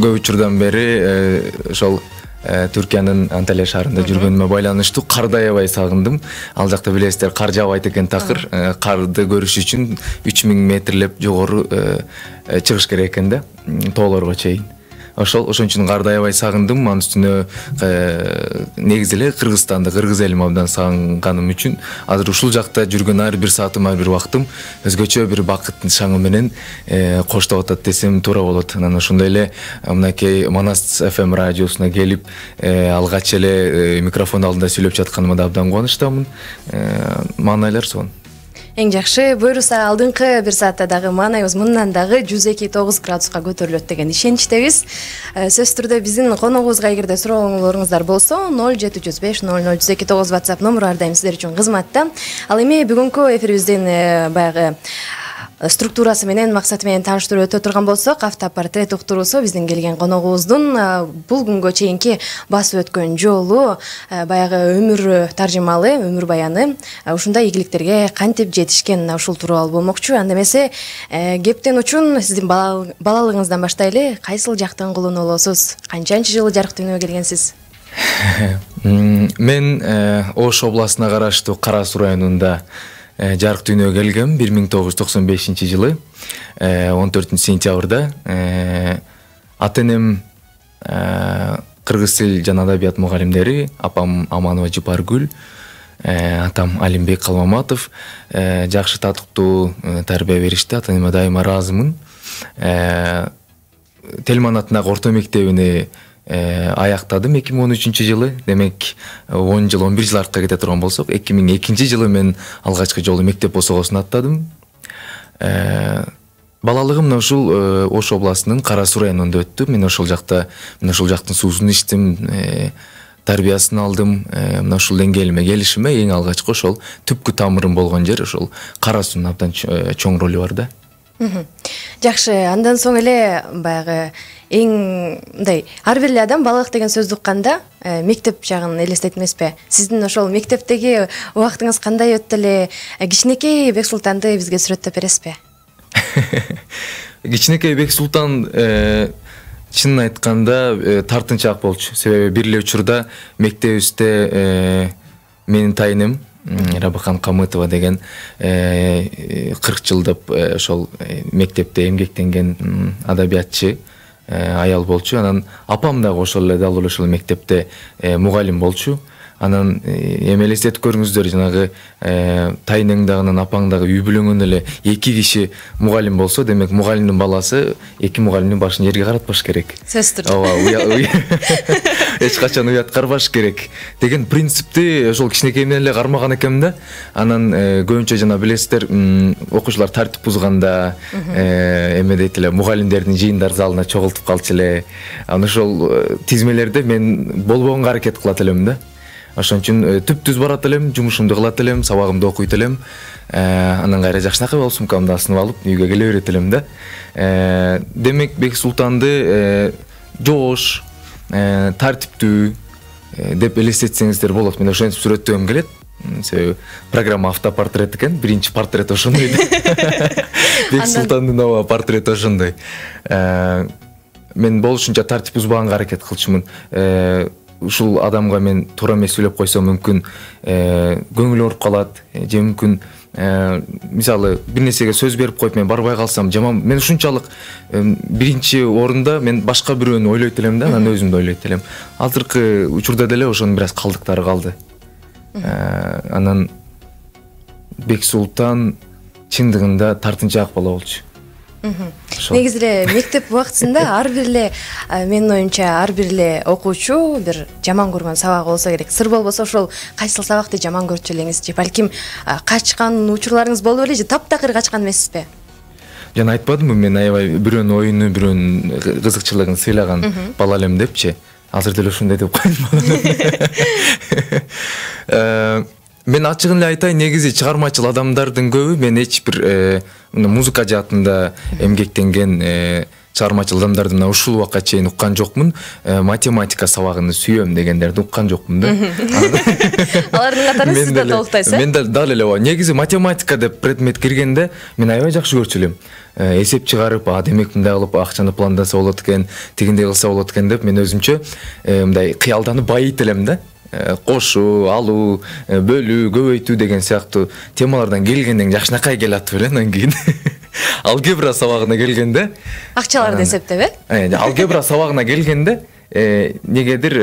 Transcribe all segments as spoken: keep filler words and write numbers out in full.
көп учурдан бери ошол Түркиянын Анталия шаарында жүргөнүмө байланыштуу карды аябай сагындым. Ал жакта билесиздер, кар жаабайт экен такыр. Карды көрүш үчүн үч миң метрлеп жогору чыгыш керек экен да, тоолорго чейин. Ошол ошон үчүн карды аябай сагындым. Анын үстүнө негизи эле Кыргызстанды, кыргыз элим абдан сагынганым үчүн азыр ушул жакта жүргөн ар бир саатым, ар бир убактым өзгөчө бир бакыттын шаңы менен коштоп атат десем туура болот. Анан ошондой эле мынакей Манас эф эм радиосуна келип алгач эле микрофон алдында сүйлөп жатканыма да абдан кубанычтамын. Маанайлар сонун. Эң жакшы. Буюрса алдыңкы бир саатта дагы маанайыбыз мындан дагы жүз эки тогуз градуска көтөрүлөт деген ишеничтебиз. Сөзсүз түрдө биздин коногубузга эгерде сурооңуздар болсо ноль жети жүз беш ноль ноль жүз эки тогуз WhatsApp номуру ар дайым сиздер үчүн кызматта. Ал эми бүгүнкү эфирибиздин баягы структурасы менен, максаты менен тааныштырып өтө турган болсок, автопортрет уктуруусу биздин келген коногубуздун бул күнгө чейинки басып өткөн жолу, баягы өмүр таржымалы, өмүр баяны, ушундай ийгиликтерге кантип жетишкен ушул тууралуу болмокчу. Анда эмесе кептен учун сиздин балалыгыңыздан баштайлы, кайсыл жактан кулун болосуз? Канчанчы жылы жарык дүйнөгө келгенсиз? Мен Ош областына караштуу Кара Суу районунда жарык дүйнөгө келгем бир миң тогуз жүз токсон бешинчи жылы он төртүнчү сентябрда. Ата энем кыргыз тил жана адабият мугалимдери, апам Аманова Жыпаргүл, атам Алимбек Калмаматов жакшы татыктуу тарбия беришти. Ата энеме дайыма ыраазымын. Телман-атындагы орто мектебини аяктадым эки миң он үчүнчү жылы. Демек он жыл, он бир жыл артка кете турган болсок, эки миң экинчи жылы мен алгачкы жолу мектеп босогосун аттадым. Балалыгым мына ушул Ош областынын Кара Суу районунда өттү. Мен ошол жакта, мына ушул жактын суусун ичтим, тарбиясын алдым. Мына ушул деңгээлиме келишиме эң алгачкы ошол түпкү тамырым болгон жер ошол Кара Суунун абдан чоң ролу бар да. Жакшы. Андан соң эле баягы эң мындай ар бир эле адам балалык деген сөздү укканда мектеп жагын элестет эмеспи? Сиздин ошол мектептеги убактыңыз кандай өттү эле? Кичинекей Бексултанды бизге сүрөттөп бересизби? Кичинекей Бексултан чынын айтканда тартынчаак болчу. Себеби бир эле учурда мектебибизде менин тайынем Рабыхан Камытова деген кырк жылдап ошол мектепте эмгектенген адабиятчы аял болчу. Анан апам дагы ошол эле дал ошол мектепте мугалим болчу. Анан эми элестетип көрүңүздөр, жанагы тайынең дагы апаң дагы үй бүлөнгөн эле эки киши мугалим болсо, демек мугалимдин баласы эки мугалимдин башын жерге каратпаш керек. Сөзсүз түрдө. Ооба, эч качан уят карбаш керек деген принципти ошол кичинекейимден эле кармаган экенмин да. Анан көбүнчө жана билесиздер, окуучулар тартип бузганда эме дейт эле, мугалимдердин жыйындар залына чогултуп калчу эле. Анан ошол тизмелерде мен болбогонго аракет кылат элем да. Ошон үчүн түп-түз барат элем, жумушумду кылат элем, сабагымды окуйт элем. Анан кайра жакшынакай болуп сумкамды асынып алып үйгө келе берет элем да. Демек Бексултанды жоош, тартиптүү деп элестетсеңиздер болот. Мен ошентип сүрөттөгөм келет. Себеби программа автопортрет экен, биринчи портрет ошондой. Бексултандын ооба портрети ошондой. Мен болушунча тартип бузбаганга аракет кылчумун. Ушул адамга мен туура эмес сүйлөп койсом мүмкүн көңүлү ооруп калат, же мүмкүн мисалы бир нерсеге сөз берип коюп мен барбай калсам жаман. Мен ушунчалык биринчи орунда мен башка бирөөнү ойлойт элем да, анан өзүмдү ойлойт элем. Азыркы учурда деле ошонун бир аз калдыктары калды. Анан Бексултан чындыгында тартынчаак бала болчу. Негизи эле мектеп убактысында ар бир эле, менин оюмча, ар бир эле окуучу бир жаман көргөн сабагы болсо керек. Сыр болбосо ошол кайсыл сабакты жаман көрчү элеңиз же балким качкан учурларыңыз болуп эле же таптакыр качкан эмессизби? Жана айтпадымбы, мен аябай бирөөнүн оюну, бирөөнүн кызыкчылыгын сыйлаган бала элем депчи. Азыр деле ушундай деп коем. Мен ачыгын эле айтайын, негизи чыгармачыл адамдардын көбү, мен эч бир музыка жаатында эмгектенген чыгармачыл адамдарды мына ушул убакка чейин уккан жокмун. Математика сабагын сүйөм дегендерди уккан жокмун да. Алардын катарында сиз да толуктайсыз? Мен дал эле ооба. Негизи математика деп предмет киргенде мен аябай жакшы көрчү элем. эсеп чыгарып, а демек мындай кылып акчаны пландаса болот экен, тигиндей кылса болот экен деп мен өзүмчө мындай кыялданып байыйт элем да. Кошуу, алуу, бөлүү, көбөйтүү деген сыяктуу темалардан келгенден жакшынакай келатып эле анан кийин алгебра сабагына келгенде акчаларды эсептеп э алгебра сабагына келгенде негедир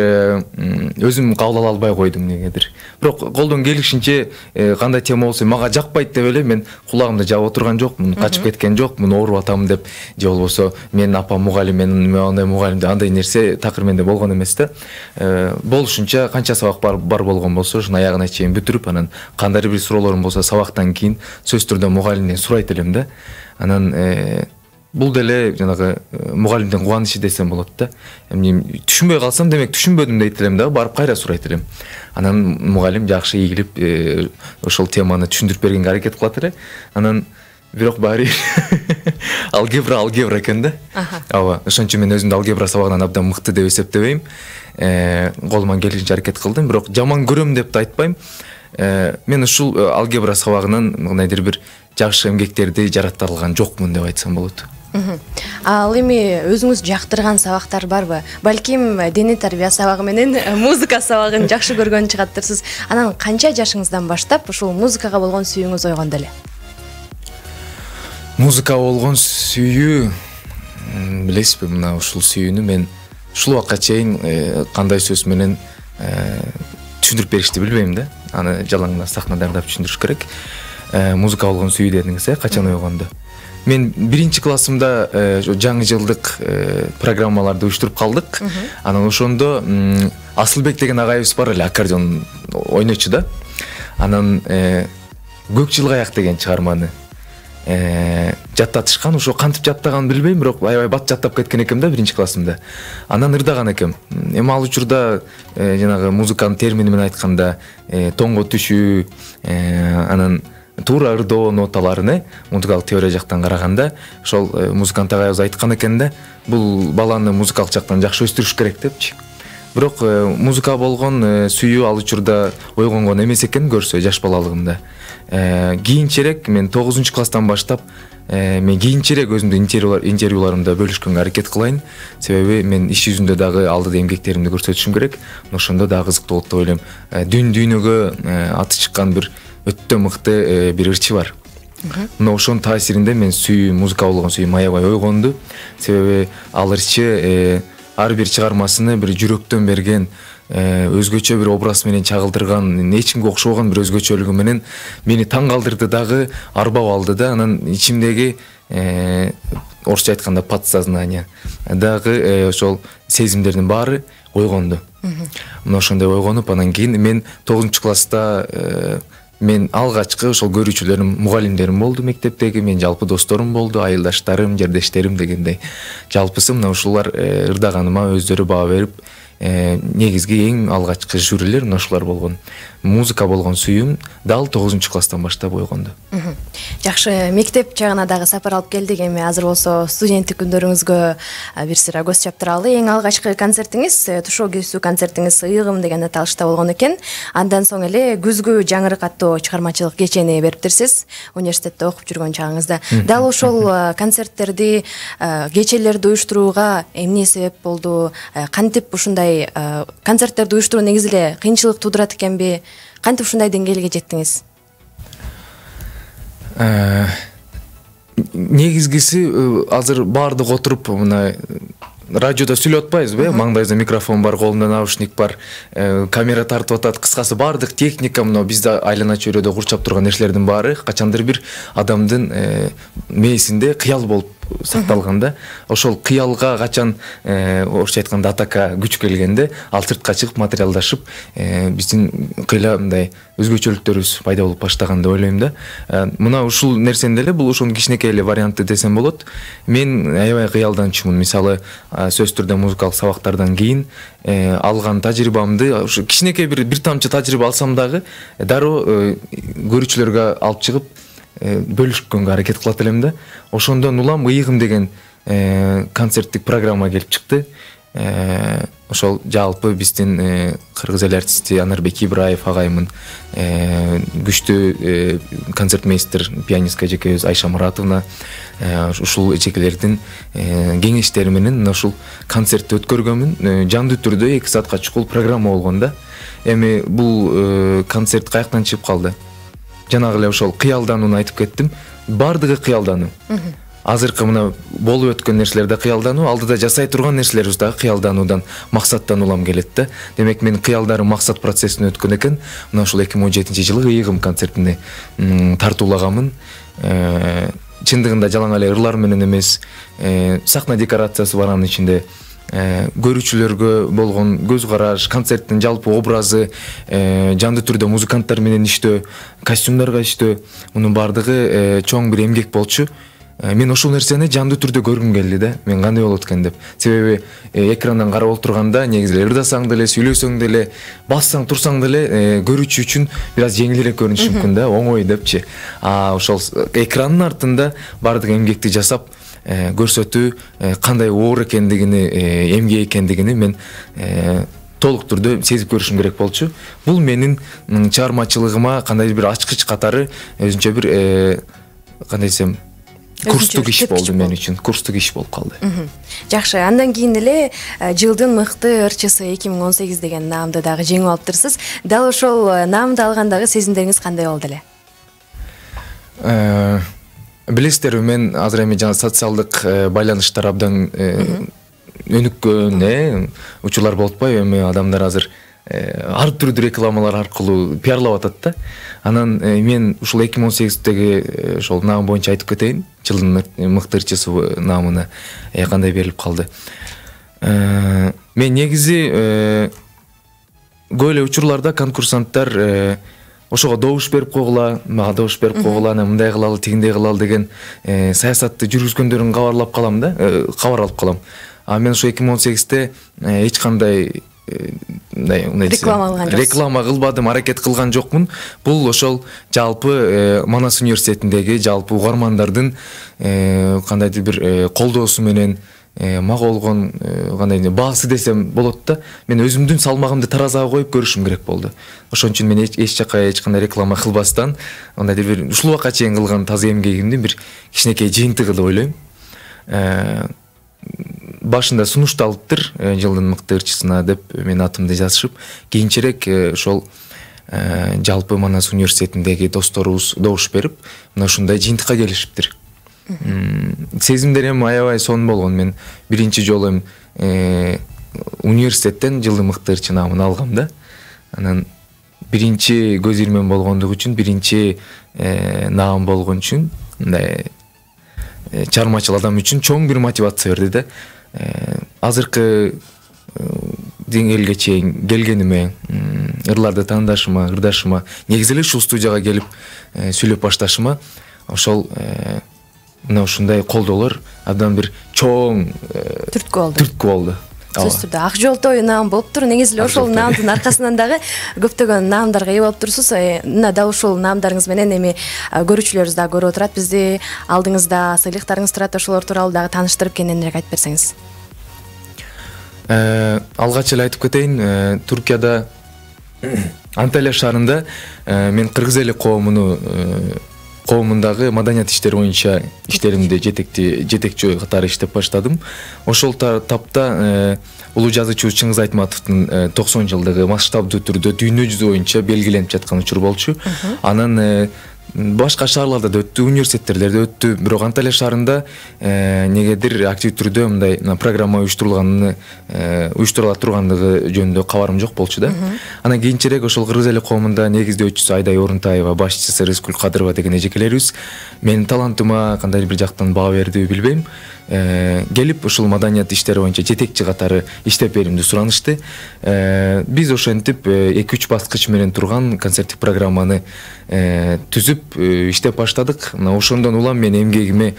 өзүм кабыл ала албай койдум негедир. Бирок колдон келишинче кандай тема болсо мага жакпайт деп эле мен кулагымды жаап отурган жокмун, качып кеткен жокмун, ооруп атам деп же болбосо менин апам мугалим, мен андай мугалим деп андай нерсе такыр менде болгон эмес да. Болушунча канча сабак бар бар болгон болсо ошонун аягына чейин бүтүрүп, анан кандайдыр бир суроолорум болсо сабактан кийин сөзсүз түрдө мугалимден сурайт элем да. Анан бул деле жанагы мугалимдин кубанычы десем болот да. Эмне түшүнбөй калсам, демек түшүнбөдүм дейт элем да, барып кайра сурайт элем. Анан мугалим жакшы ийгилип ошол теманы түшүндүрүп бергенге аракет кылат эле. Анан бирок баары алгебра алгебра экен да. Ооба, ошон үчүн мен өзүмдү алгебра сабагынан абдан мыкты деп эсептебейм. Колуман келишинче аракет кылдым, бирок жаман көрөм деп да айтпайм. Мен ушул алгебра сабагынан кандайдыр бир жакшы эмгектерди жарата алган жокмун деп айтсам болот. Ал эми өзүңүз жактырган сабактар барбы? Балким дене тарбия сабагы менен музыка сабагын жакшы көргөн чыгаттырсыз. Анан канча жашыңыздан баштап ушул музыкага болгон сүйүүңүз ойгонду эле? Музыкага болгон сүйүү, билесизби, мына ушул сүйүүнү мен ушул убакка чейин кандай сөз менен түшүндүрүп беришти билбейм да. Аны жалаңына сахнада дардап түшүндүрүш керек. Музыка болгон сүйүү дедиңиз, качан ойгонду? Мен биринчи классымда жаңы жылдык программаларды уюштуруп калдык. Анан ошондо Асылбек деген агайыбыз бар эле, аккордеон ойночу да. Анан Көк жылгаяк деген чыгарманы жаттатышкан. Ошо кантип жаттаганын билбейм, бирок аябай бат жаттап кеткен экем да биринчи классымда. Анан ырдаган экем. Эми ал учурда жанагы музыканын термини менен айтканда тоңго түшүү, анан туура ырдоо ноталарын музыкалык теория жактан караганда ошол музыкант агайыбыз айткан экен да, бул баланы музыкалык жактан жакшы өстүрүш керек депчи. Бирок музыка болгон сүйүү ал учурда ойгонгон эмес экен көрсө жаш балалыгымда. Кийинчерээк мен тогузунчу класстан баштап мен кийинчерээк өзүмдүн интервьюларымда бөлүшкөнгө аракет кылайын. Себеби мен иш жүзүндө дагы алдыда эмгектеримди көрсөтүшүм керек. Ошондо дагы кызыктуу болот деп ойлойм. Дүн дүйнөгө аты чыккан бир өтө мыкты бир ырчы бар. Мына ошонун таасиринде мен сүйүү, музыка болгон сүйүү аябай ойгонду. Себеби ал ырчы ар бир чыгармасыны бир жүрөктөн берген, өзгөчө бир образ менен чагылдырган, эч кимге окшобогон бир өзгөчөлүгү менен мени таң калтырды дагы, арбап алды да. Анан ичимдеги орусча айтканда подсознание дагы ошол сезимдердин баары ойгонду. Мына ошондой ойгонуп, анан кийин мен тогузунчу класста мен алгачкы ошол көрүүчүлөрүм, мугалимдерим болду мектептеги, мен жалпы досторум болду, айылдаштарым, жердештерим дегендей. Жалпысы мына ушулар ырдаганыма өздөрү баа берип, негизги эң алгачкы жюрилер мына ушулар болгон. Музыка болгон сүйүүм дал тогузунчу класстан баштап ойгонду. Жакшы, мектеп жагына дагы сапар алып келдик. Эми азыр болсо студенттик күндөрүңүзгө бир сыйра көз чаптыралы. Эң алгачкы концертиңиз, тушоо кезүү концертиңиз Ыйыгым деген аталышта болгон экен. Андан соң эле Күзгү жаңырык аттуу чыгармачылык кечени бериптирсиз университетте окуп жүргөн чагыңызда. Дал ошол концерттерди, кечелерди уюштурууга эмне себеп болду? Кантип ушундай концерттерди уюштуруу негизи эле кыйынчылык туудурат экенби? Кантип ушундай деңгээлге жеттиңиз? Негизгиси азыр баардык отуруп мына радиодо сүйлөп атпайбызбы? Маңдайда микрофон бар, колунда наушник бар, камера тартып атат. Кыскасы баардык техника мына бизде айлана чөйрөдө курчап турган нерселердин баары качандыр бир адамдын мээсинде кыял болуп сакталган да. Ошол кыялга качан орусча айтканда атака күч келгенде ал сыртка чыгып материалдашып, биздин кыйла мындай өзгөчөлүктөрүбүз пайда болуп баштаган деп ойлойм да. Мына ушул нерсенин эле бул ошонун кичинекей эле варианты десем болот. Мен аябай кыялданчумун. Мисалы, сөзсүз түрдө музыкалык сабактардан кийин алган тажрыйбамды, ушу кичинекей бир бир тамчы тажрыйба алсам дагы дароо көрүүчүлөргө алып чыгып бөлүшкөнгө аракет кылат элем да. Ошондон улам Ыйыгым деген концерттик программа келип чыкты. ошол жалпы биздин кыргыз эл артисти Анарбек Ибраев агайымын күчтүү концертмейстер пианистка эжекебиз Айша Муратовна ушул эжекелердин кеңештери менен ушул концертти өткөргөнмүн. Жандуу түрдө эки саатка чукул программа болгон да. Эми бул концерт каяктан чыгып калды? Жанагы эле ошол кыялданууну айтып кеттим. Бардыгы кыялдануу. Азыркы мына болуп өткөн нерселерде кыялдануу, алдыда жасай турган нерселерибиз дагы кыялдануудан, максаттан улам келет да. Демек мен кыялдарым максат процессин өткөн экен. Мына ушул эки миң он жетинчи жылы ыйыгым концертине тартуулаганмын. Чындыгында жалаң эле ырлар менен эмес, сахна декорациясы бар анын ичинде. Көрүүчүлөргө болгон көз караш, концерттин жалпы образы, жандуу түрдө музыканттар менен иштөө, костюмдарга иштөө, мунун бардыгы чоң бир эмгек болчу. Мен ошол нерсени жандуу түрдө көргүм келди да. Мен кандай болот экен деп. Себеби экрандан карап отурганда негизи эле ырдасаң деле, сүйлөсөң деле, бассаң, турсаң деле көрүүчү үчүн бир аз жеңилирээк көрүнүшү мүмкүн да, оңой депчи. А ошол экрандын артында бардык эмгекти жасап көрсөтүү кандай оор экендигини, эмгек экендигини мен толук түрдө сезип көрүшүм керек болчу. Бул менин чыгармачылыгыма кандайдыр бир ачкыч катары өзүнчө бир кандай десем курстук иш болду мен үчүн. Курстук иш болуп калды. Жакшы. Андан кийин эле жылдын мыкты ырчысы эки миң он сегиз деген наамды дагы жеңип алыптырсыз. Дал ошол наамды алгандагы сезимдериңиз кандай болду эле? Билесиздерби, мен азыр эми жана социалдык байланыштар абдан өнүккөн учурлар болуп атпайбы? Эми адамдар азыр ар түрдүү рекламалар аркылуу пиарлап атат да. Анан мен ушул эки миң он сегиздеги ошол наам боюнча айтып кетейин. Жылдын мыкты ырчысы наамына кандай берилип калды. Мен негизи көп эле учурларда конкурсанттар ошого добуш берип койгула, мага добуш берип койгула, мындай кылалы, тигиндей кылалы деген саясатты жүргүзгөндөрүн кабарлап калам да, кабар алып калам. А мен ошо эки миң он сегизде эч кандай реклама кылбадым, аракет кылган жокмун. Бул ошол жалпы Манас университетиндеги жалпы угармандардын кандайдыр бир колдоосу менен мага болгон кандай баасы десем болот да. Мен өзүмдүн салмагымды таразага коюп көрүшүм керек болду. Ошон үчүн мен эч жака эч кандай реклама кылбастан, кандайдыр бир ушул убакка чейин кылган таза эмгегимдин бир кичинекей жыйынтыгы деп ойлойм. Башында сунушталыптыр жылдын мыкты ырчысына деп мен атымды жазышып, кийинчерээк ошол жалпы Манас университетиндеги досторубуз добуш берип, мына ушундай жыйынтыкка келишиптир. Сезимдерим аябай сонун болгон. Мен биринчи жолу университеттен жылдын мыкты ырчы наамын алгам да. Анан биринчи көз ирмен болгондугу үчүн, биринчи наам болгон үчүн, мындай чыгармачыл адам үчүн чоң бир мотивация берди да. Азыркы деңгээлге чейин келгениме, ырларды таандашыма, ырдашыма, негизи эле ушул студияга келип сүйлөп башташыма ошол мына ушундай колдоолор абдан бир чоң түрткү болду. Түрткү болду. Сөзсүз түрдө Ак жолтой наам болуптур. Негизи эле ошол наамдын аркасынан дагы көптөгөн наамдарга ээ болуптурсуз. Мына дал ушул наамдарыңыз менен эми көрүүчүлөрүбүз дагы көрүп отурат. Бизди алдыңызда сыйлыктарыңыз турат, ошолор тууралуу дагы тааныштырып кененирээк айтып берсеңиз. Алгач эле айтып кетейин, Туркияда Анталия шаарында мен кыргыз эли коомуну коомундагы маданият иштери боюнча иштеримди жетекти жетекчи катары иштеп баштадым. Ошол тапта улуу жазуучу Чыңгыз Айтматовдун токсон жылдыгы масштабдуу түрдө дүйнө жүзү боюнча белгиленип жаткан учур болчу. Анан башка шаарларда да өттү, университеттерде өттү, бирок Анталия шаарында негедир актив түрдө мындай программа уюштурулганын уюштурула тургандыгы жөнүндө кабарым жок болчу да. Анан кийинчерээк ошол кыргыз эли коомунда негиздөөчүсү Айдай Орунтаева, башчысы Рыскүл Кадырова деген эжекелерибиз менин талантыма кандайдыр бир жактан баа бердиби билбейм. Келип ушул маданият иштери боюнча жетекчи катары иштеп берүүмдү суранышты. Биз ошентип эки үч баскыч менен турган концерттик программаны түзүп иштеп баштадык. Мына ошондон улам мен эмгегиме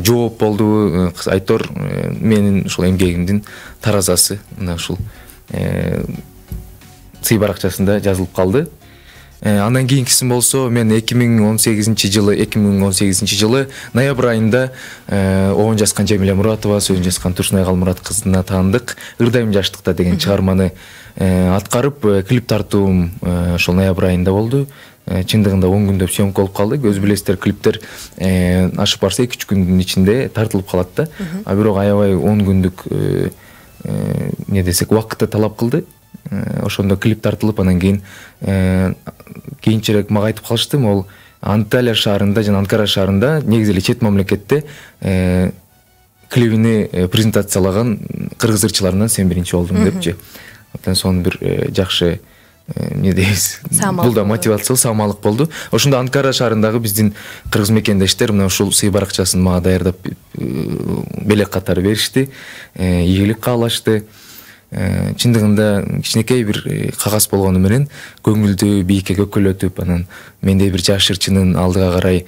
жооп болду. Айтор менин ушул эмгегимдин таразасы мына ушул сый баракчасында жазылып калды. Андан кийинкиси болсо мен эки миң он сегизинчи жылы эки миң он сегизинчи жылы ноябрь айында оон жазган Жамиля Муратова, сөзүн жазган Турсунай Калмурат кызына таандык Ырдайым жаштыкта деген чыгарманы аткарып, клип тартуум ошол ноябрь айында болду. Чындыгында он күндөп съемка болуп калды. Өзү билесиздер, клиптер ашып барса эки үч күндүн ичинде тартылып калат да. А бирок аябай он күндүк не десек убакытты талап кылды. Ошондо клип тартылып, анан кийин кийинчерээк мага айтып калышты, могул Анталия шаарында жана Анкара шаарында негизи эле чет мамлекетте клибини презентациялаган кыргыз ырчыларынан сен биринчи болдуң депчи. Абдан сонун бир жакшы не дейбиз, бул да мотивация, самалык болду. Ошондо Анкара шаарындагы биздин кыргыз мекендештер мына ушул сый баракчасын мага даярдап белек катары беришти, ийгилик каалашты. Чындыгында кичинекей бир кагаз болгону менен көңүлдү бийикке көккөлөтүп, анан мендей бир жаш ырчынын алдыга карай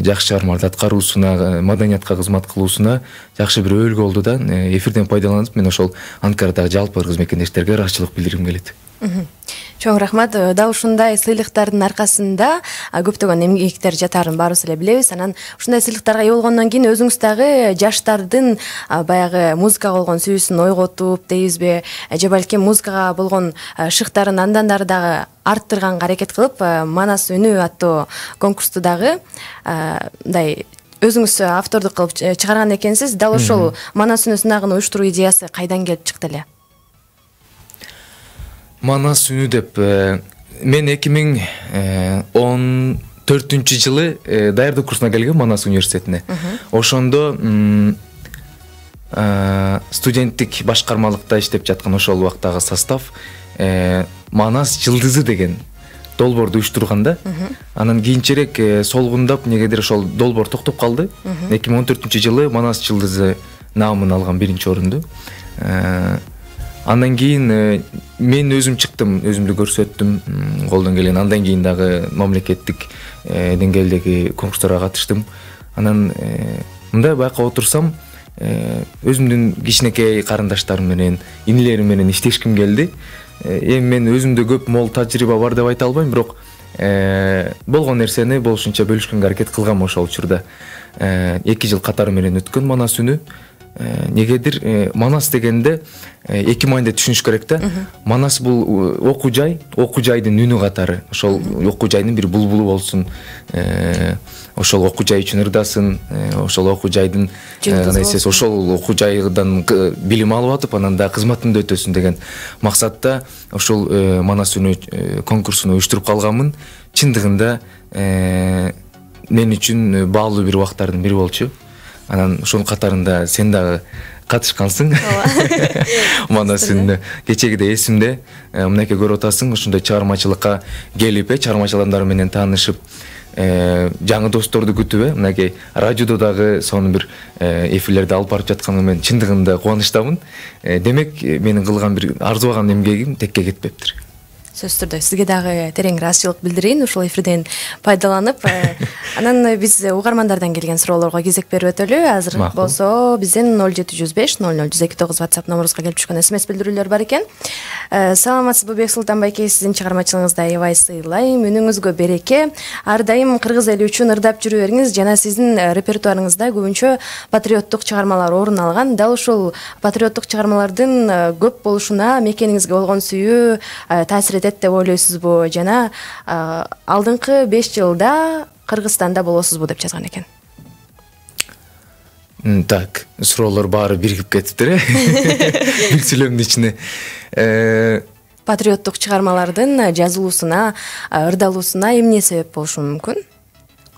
жакшы чыгармаларды аткаруусуна, маданиятка кызмат кылуусуна жакшы бир өбөлгө болду да. Эфирден пайдаланып, мен ошол Анкарадагы жалпы кыргыз мекендештерге ыраазычылык билдиргим келет. Чоң рахмат. Дал ушундай сыйлыктардын аркасында көптөгөн эмгектер жатарын баарыбыз эле билебиз. Анан ушундай сыйлыктарга ээ болгондон кийин өзүңүз дагы жаштардын баягы музыкага болгон сүйүүсүн ойготуп дейбизби, же балким музыкага болгон шыктарын андан дары дагы арттырганга аракет кылып, Манас үнү аттуу конкурсту дагы мындай өзүңүз автордук кылып чыгарган экенсиз. Дал ошол Манас үнү сынагын уюштуруу идеясы кайдан келип чыкты эле? Манас үнү деп мен эки миң он төртүнчү жылы даярдык курсуна келгем Манас университетине. Ошондо студенттик башкармалыкта иштеп жаткан ошол убактагы состав Манас жылдызы деген долбоорду уюштурган да. Анан кийинчерээк солгундап негедир ошол долбоор токтоп калды. эки миң он төртүнчү жылы Манас жылдызы наамын алган биринчи орунду. Андан кийин мен өзүм чыктым, өзүмдү көрсөттүм, колдон келген. Андан кийин дагы мамлекеттик деңгээлдеги конкурстарга катыштым. Анан мындай байкап отурсам, өзүмдүн кичинекей карындаштарым менен, инилерим менен иштешким келди. Эми мен өзүмдө көп мол тажрыйба бар деп айта албайм, бирок болгон нерсени болушунча бөлүшкөнгө аракет кылгам ошол учурда. эки жыл катары менен өткөн Манас үнү. Негедир Манас дегенде эки мааниде түшүнүш керек да. Манас бул окуу жай, окуу жайдын үнү катары. Ошол окуу жайдын бир булбулу болсун. Ошол окуу жай үчүн ырдасын, ошол окуу жайдын анайсыз ошол окуу жайдан билим алып атып, анан да кызматында өтөсүн деген максатта ошол Манас үнү конкурсун уюштуруп калганмын. Чындыгында мен үчүн баалуу бир убактардын бири болчу. Анан ошонун катарында сен дагы катышкансың. Манас үнү кечегиде эсимде. Мынакей көрүп атасың, ошондой чыгармачылыкка келип, чыгармачыл адамдар менен таанышып, жаңы досторду күтүп, мынакей радиодо дагы сонун бир эфирлерди алып барып жатканыма мен чындыгында кубанычтамын. Демек, менин кылган бир арзубаган эмгегим текке кетпептир. Сөзсүз түрдө сизге дагы терең ыраазычылык билдирейин ушул эфирден пайдаланып. Анан биз угармандардан келген суроолорго кезек берип өтөлү. Азыр болсо биздин ноль жети жүз беш ноль ноль жүз эки тогуз WhatsApp номурубузга келип түшкөн смс билдирүүлөр бар экен. Саламатсызбы Бек Султанбайке, сиздин чыгармачылыгыңызды аябай сыйлайм, үнүңүзгө береке. Ар дайым кыргыз эли үчүн ырдап жүрө бериңиз. Жана сиздин репертуарыңызда көбүнчө патриоттук чыгармалар орун алган. Дал ушул патриоттук чыгармалардын көп болушуна мекениңизге болгон сүйүү таасир этет деп ойлойсузбу? Жана алдыңкы беш жылда Кыргызстанда болосузбу деп жазган экен. Так, суроолор баары биригип кетиптир, э? Бир сүйлөмдүн ичине. Патриоттук чыгармалардын жазылуусуна, ырдалуусуна эмне себеп болушу мүмкүн?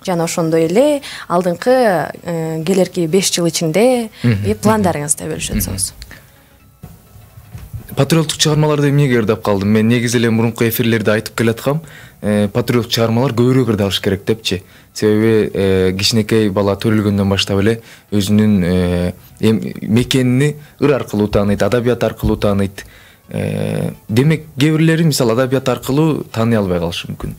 Жана ошондой эле алдыңкы келерки беш жыл ичинде пландарыңызды бөлүшүп өтсөңүз. Патриоттук чыгармаларды эмнеге ырдап калдым? Мен негизи эле мурунку эфирлерде айтып келаткам, патриоттук чыгармалар көбүрөөк ырдалыш керек депчи. Себеби кичинекей бала төрөлгөндөн баштап эле өзүнүн мекенини ыр аркылуу тааныйт, адабият аркылуу тааныйт. Демек, кээ бирлери мисалы адабият аркылуу тааный албай калышы мүмкүн.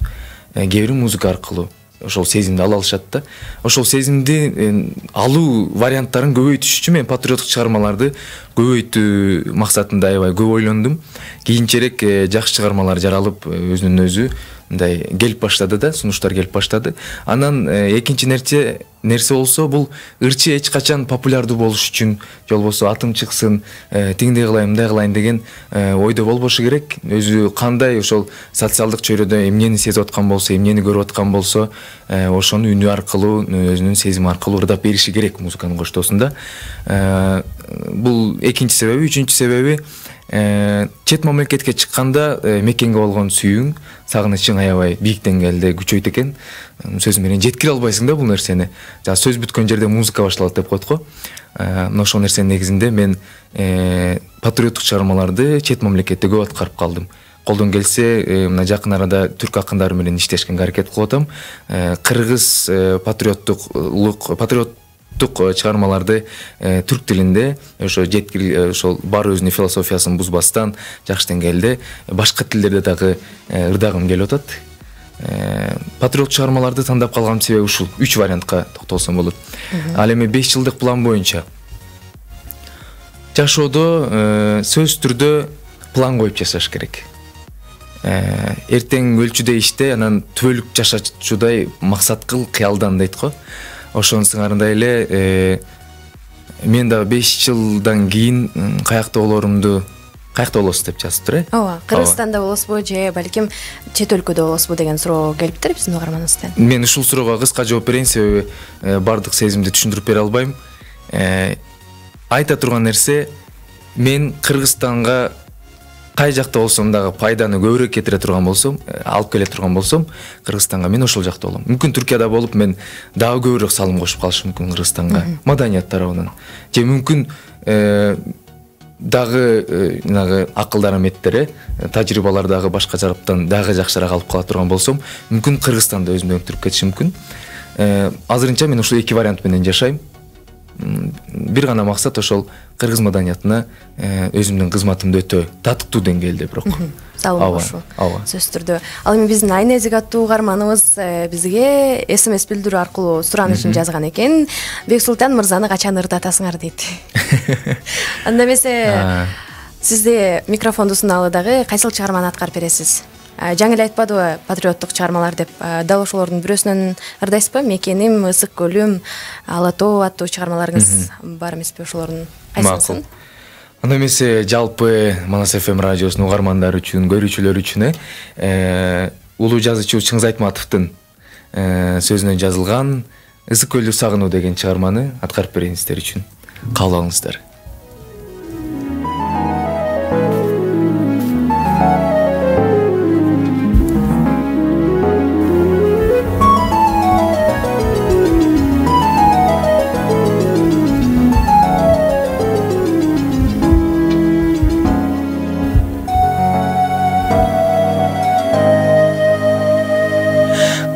Кээ бири музыка аркылуу ошол сезимди ала алышат да. Ошол сезимди алуу варианттарын көбөйтүш үчүн мен патриоттук чыгармаларды көбөйтүү максатында аябай көп ойлондум. Кийинчерээк жакшы чыгармалар жаралып, өзүнүн өзү мындай келип баштады да, сунуштар келип баштады. Анан экинчи нерсе нерсе болсо, бул ырчы эч качан популярдуу болуш үчүн, же болбосо атым чыксын, тиңдей кылайын, мындай кылайын деген ойдо болбошу керек. Өзү кандай ошол социалдык чөйрөдө эмнени сезип аткан болсо, эмнени көрүп аткан болсо, ошону үнү аркылуу, өзүнүн сезими аркылуу ырдап бериши керек музыканын коштоосунда. Бул экинчи себеби. Үчүнчү себеби, чет мамлекетке чыкканда мекенге болгон сүйүүң, сагынычың аябай бийик деңгээлде күчөйт экен. Сөз менен жеткире албайсың да бул нерсени. Жана сөз бүткөн жерде музыка башталат деп коет го. Мына ошол нерсенин негизинде мен патриоттук чыгармаларды чет мамлекетте көп аткарып калдым. Колдон келсе, мына жакын арада түрк акындары менен иштешкенге аракет кылып атам. Кыргыз патриоттук патриот чыгармаларды түрк тилинде ошо жеткир ошол бар өзүнүн философиясын бузбастан жакшы деңгээлде башка тилдерде дагы ырдагым келип атат. Патриот чыгармаларды тандап калган себеби ушул үч вариантка токтолсом болот. Ал эми беш жылдык план боюнча жашоодо сөзсүз түрдө план коюп жашаш керек. Эртең өлчүдөй иште, анан түбөлүк жашачудай максат кыл кыялдан дейт го. Ошонун сыңарындай эле мен дагы беш жылдан кийин каякта болорумду, каякта болосуз деп жазыптыр, э? Ооба, Кыргызстанда болосузбу же балким чет өлкөдө болосузбу деген суроо келиптир биздин угарманыбыздан. Мен ушул суроого кыска жооп берейин, себеби бардык сезимди түшүндүрүп бере албайм. Айта турган нерсе, мен Кыргызстанга кай жакта болсом дагы пайданы көбүрөөк кетире турган болсом, алып келе турган болсом, Кыргызстанга мен ошол жакта болом. Мүмкүн Түркияда болуп мен дагы көбүрөөк салым кошуп калышым мүмкүн Кыргызстанга, маданият тарабынан. Же мүмкүн дагы нагы акылдар аметтери, тажрыйбалар дагы башка жараптан дагы жакшыраак алып кала турган болсом, мүмкүн Кыргызстанда өзүмдү өктүрүп кетишим мүмкүн. Азырынча мен ушул эки вариант менен жашайм. Бир гана максат ошол кыргыз маданиятына өзүмдүн кызматымды өтө татыктуу деңгээлде бирок. Салым кошуу. Сөзсүз түрдө. Ал эми биздин Айнезик аттуу угарманыбыз бизге эс эм эс билдирүү аркылуу суранышын жазган экен. Бексултан мырзаны качан ырдатасыңар дейт. Анда эмесе сизде микрофонду суналып дагы кайсыл чыгарманы аткарып бересиз? Жаңы эле айтпадыбы патриоттук чыгармалар деп? Дал ошолордун бирөөсүнөн ырдайсызбы? Мекеним, Ысык көлүм, Ала тоо аттуу чыгармаларыңыз бар эмеспи ошолордун? Макул. Анда эмесе жалпы Манас эф эм радиосунун угармандары үчүн, көрүүчүлөр үчүн улуу жазуучу Чыңгыз Айтматовдун сөзүнөн жазылган Ысык көлдү сагынуу деген чыгарманы аткарып берейин сиздер үчүн. Кабыл алыңыздар.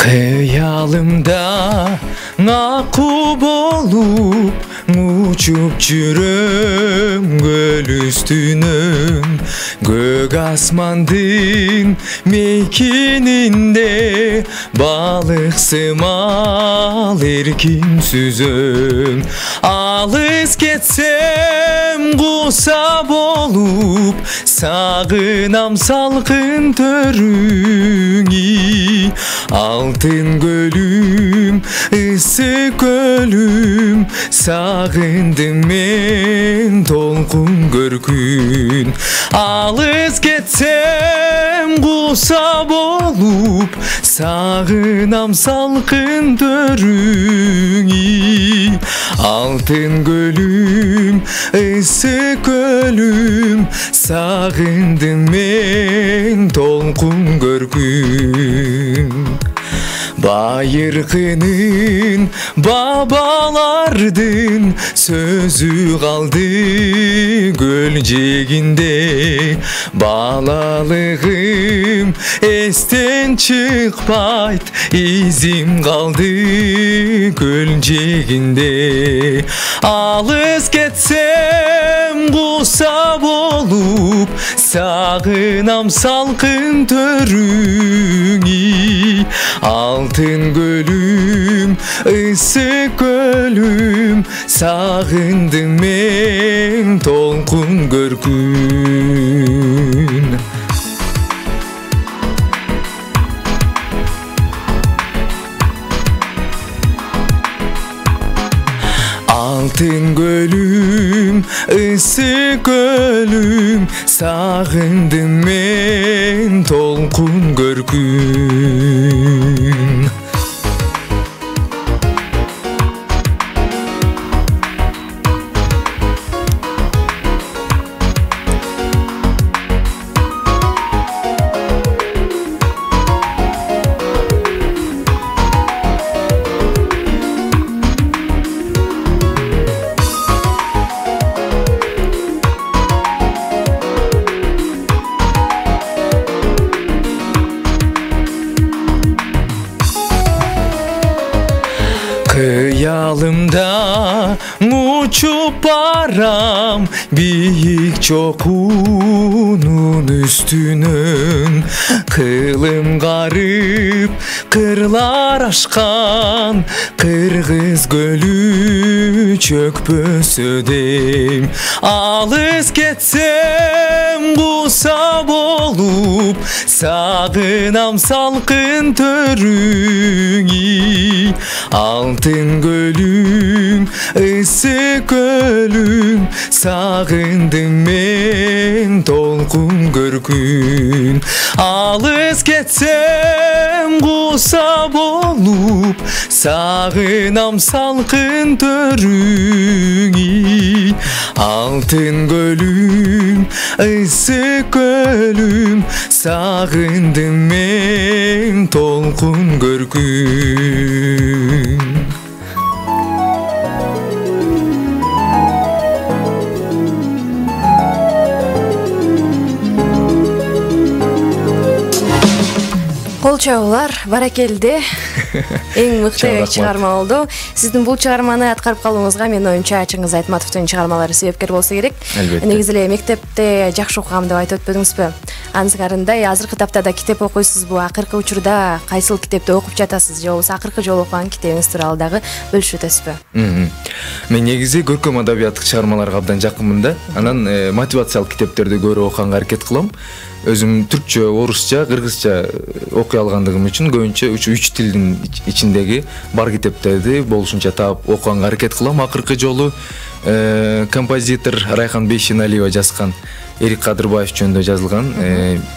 Кыялымда акуу болуп учуп жүрөм көл үстүнөн, көк асмандын мейкининде балык сымал эркин сүзөм. Алыс кетсем куса болуп, сагынам салкын төрүңү. Алтын көлүм, ысык көлүм, сагындым мен толкун көркүн. Алыс кетсем куса болуп, сагынам салкын төрүңү. Алтын көлүм, ысык көлүм, сагындым мен толкун көркүн. Байыркынын бабалардын сөзү калды көл жээгинде. Балалыгым эстен чыкпайт, изим калды көл жээгинде. Алыс кетсем куса болуп, сагынам салкын төрүңү. Алтын көлүм, ысык көлүм, сагындым мен толкун көркүн. ысык өлүм сагындым мен толкун көркүм. Kıyalımda uçup baram büyük çokunun üstünün, kılım garip kırlar aşkan Kırgız gölü çökpösödeyim. Alız ketsem kusap olup sağınam salkın törüngü. Altın gölüm, ısık ölüm, sağındım men толкун көркүн. Алыс кетсем куса болуп, сагынам салкын төрүңү. Алтын гөлүм, ысык ölüm, сагындым мен толкун көркүн. Кол чабуулар баракелде. Эң мыкты чыгарма болду. Сиздин бул чыгарманы аткарып калууңузга менин оюмча Чыңгыз Айтматовдун чыгармалары себепкер болсо керек. Негизи эле мектепте жакшы окугам деп айтып өтпөдүңүзбү? Анын сыңарындай азыркы таптада китеп окуйсузбу? Акыркы учурда кайсыл китепти окуп жатасыз же болбосо акыркы жолу окуган китебиңиз тууралуу дагы бөлүшүп өтөсүзбү? Мен негизи көркөм адабияттык чыгармаларга абдан жакынмын да. Анан мотивациялык китептерди көрүп окуганга аракет кылам. Өзүм түркчө, орусча, кыргызча окуй алгандыгым үчүн көбүнчө үч тилдин ичиндеги бар китептерди болушунча таап окуганга аракет кылам. Акыркы жолу композитор Райхан Бейшеналиева жазган Эрик Кадырбаев жөнүндө жазылган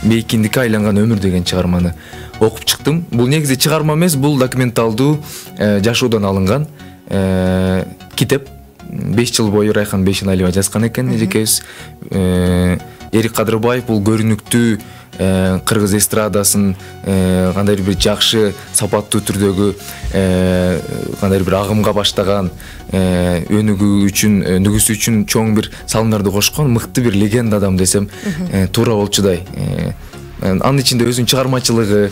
Бейкиндикке айланган өмүр деген чыгарманы окуп чыктым. Бул негизи чыгарма эмес, бул документалдуу жашоодон алынган китеп. беш жыл бою Райхан Бейшеналиева жазган экен эжекебиз. Эрик Кадырбаев бул көрүнүктүү кыргыз эстрадасын кандайдыр бир жакшы сапаттуу түрдөгү кандайдыр бир агымга баштаган, өнүгүү үчүн, нүгүсү үчүн чоң бир салымдарды кошкон мыкты бир легенда адам десем туура болчудай. Анын ичинде өзүнүн чыгармачылыгы,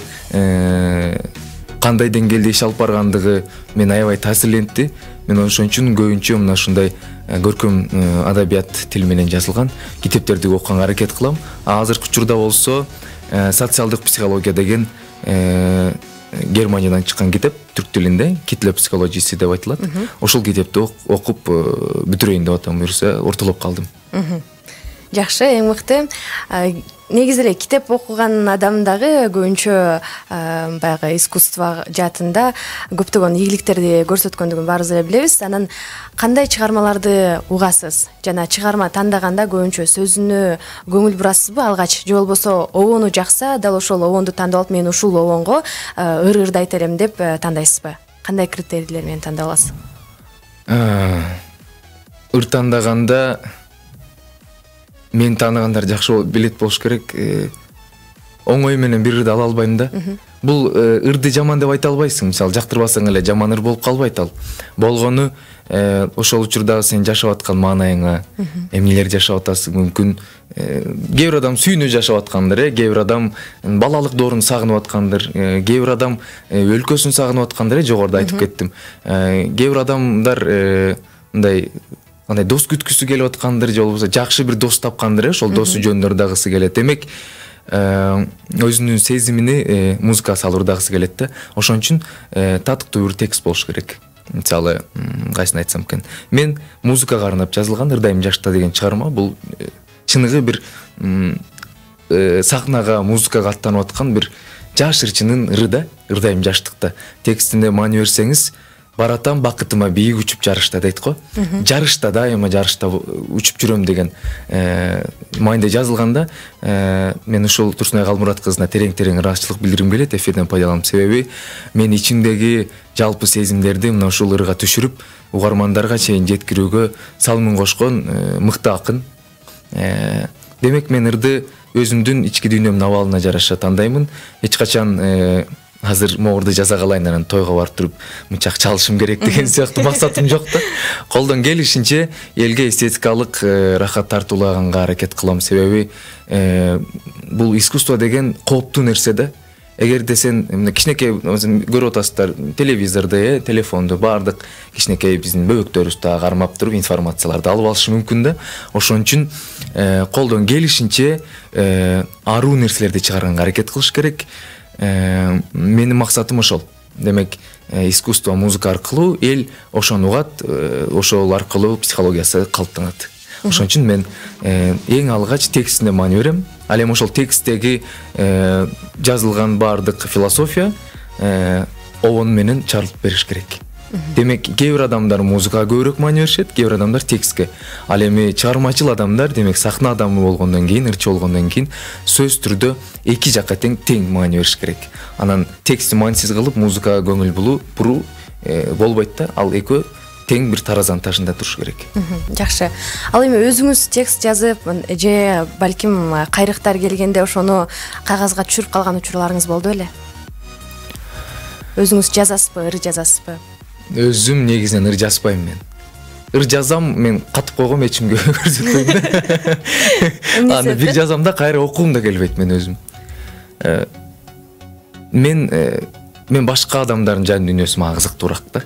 кандай деңгээлде иш алып баргандыгы мени аябай таасирлентти. Мен ошон үчүн көбүнчө мына ушундай көркөм адабият тил менен жазылган китептерди окуганга аракет кылам. Азыркы учурда болсо социалдык психология деген Германиядан чыккан китеп, түрк тилинде, Kitle Psychology деп айтылат. Ошол китепти окуп бүтүрөйүн деп атам, буюрса ортолоп калдым. Жакшы, эң мыкты. Негизи эле китеп окуган адам дагы көбүнчө баягы искусство жаатында көптөгөн ийгиликтерди көрсөткөндүгүн баарыбыз эле билебиз. Анан кандай чыгармаларды угасыз? Жана чыгарма тандаганда көбүнчө сөзүнө көңүл бурасызбы алгач? Же болбосо обону жакса, дал ошол обонду тандап алып, мен ушул обонго ыр-ырды айта элем деп тандайсызбы? Кандай критерийлер менен тандап аласыз? Ыр тандаганда мен тааныгандар жакшы билет болуш керек. Оңой менен бир ырды ала албайм да. Бул ырды жаман деп айта албайсың. Мисалы жактырбасаң эле жаман ыр болуп калбайт ал. Болгону ошол учурда сен жашап аткан маанайыңа, эмнелер жашап атасың, мүмкүн кээ бир адам сүйүнүп жашап аткандыр, э, кээ бир адам балалык доорун сагынып аткандыр, кээ бир адам өлкөсүн сагынып аткандыр, жогоруда айтып кеттим. Кээ бир адамдар мындай андай дос күткүсү келип аткандыр, же болбосо жакшы бир дос тапкандыр, ошол досу жөнүндө ырдагысы келет. Демек, өзүнүн сезимини музыкага салып ырдагысы келет да. Ошон үчүн татыктуу бир текст болуш керек. Мисалы, кайсын айтсам экен. Мен музыкага арнап жазылган Ырдайм жашта деген чыгарма, бул чыныгы бир сахнага, музыкага аттанып аткан бир жаш ырчынын ыры да, Ырдайм жаштыкта. Текстине маани берсеңиз, баратам бакытыма бийик учуп жарышта дейт го. Жарышта дайыма жарышта учуп жүрөм деген мааниде жазылганда мен ушул Турсунай Калмурат кызына терең-терең ыраазычылык билдиргим келет эфирден пайдаланып. Себеби мен ичимдеги жалпы сезимдерди мына ушул ырга түшүрүп, угармандарга чейин жеткирүүгө салымын кошкон мыкты акын. Демек мен ырды өзүмдүн ички дүйнөмдүн абалына жараша тандаймын. Эч качан азыр могурду жаза калайын, анан тойго барып туруп мынчак чалышым керек деген сыяктуу максатым жок да. Колдон келишинче элге эстетикалык рахат тартуулаганга аракет кылам. Себеби бул искусство деген кооптуу нерсе да. Эгерде сен кичинекей көрүп атасыздар телевизордо, телефондо баардык кичинекей биздин бөбөктөрүбүздү кармап туруп информацияларды алып алышы мүмкүн да. Ошон үчүн колдон келишинче аруу нерселерди чыгарганга аракет кылыш керек. Менин максатым ошол. Демек, искусство, музыка аркылуу эл ошону угат, ошол аркылуу психологиясы калыптанат. Ошон үчүн мен эң алгач текстине маани берем. Ал эми ошол тексттеги жазылган баардык философия обон менен чарылтып бериш керек. Демек, кээ бир адамдар музыкага көбүрөөк маани беришет, кээ бир адамдар текстке. Ал эми чыгармачыл адамдар, демек сахна адамы болгондон кийин, ырчы болгондон кийин сөз түрдө эки жакка тең тең маани бериш керек. Анан текстти маанисиз кылып, музыкага көңүл буруу болбойт да. Ал экөө тең бир таразанын ташында туруш керек. Жакшы. Ал эми өзүңүз текст жазып, же балким кайрыктар келгенде ошону кагазга түшүрүп калган учурларыңыз болду беле? Өзүңүз жазасызбы, ыр жазасызбы? Өзүм негизинен ыр жазбайм мен. Ыр жазам, мен катып койгом, эчимге көрсөтпөйм. Аны бир жазам да кайра окугум да келбейт мен өзүм. Мен мен башка адамдардын жан дүйнөсү мага кызыктуураак да.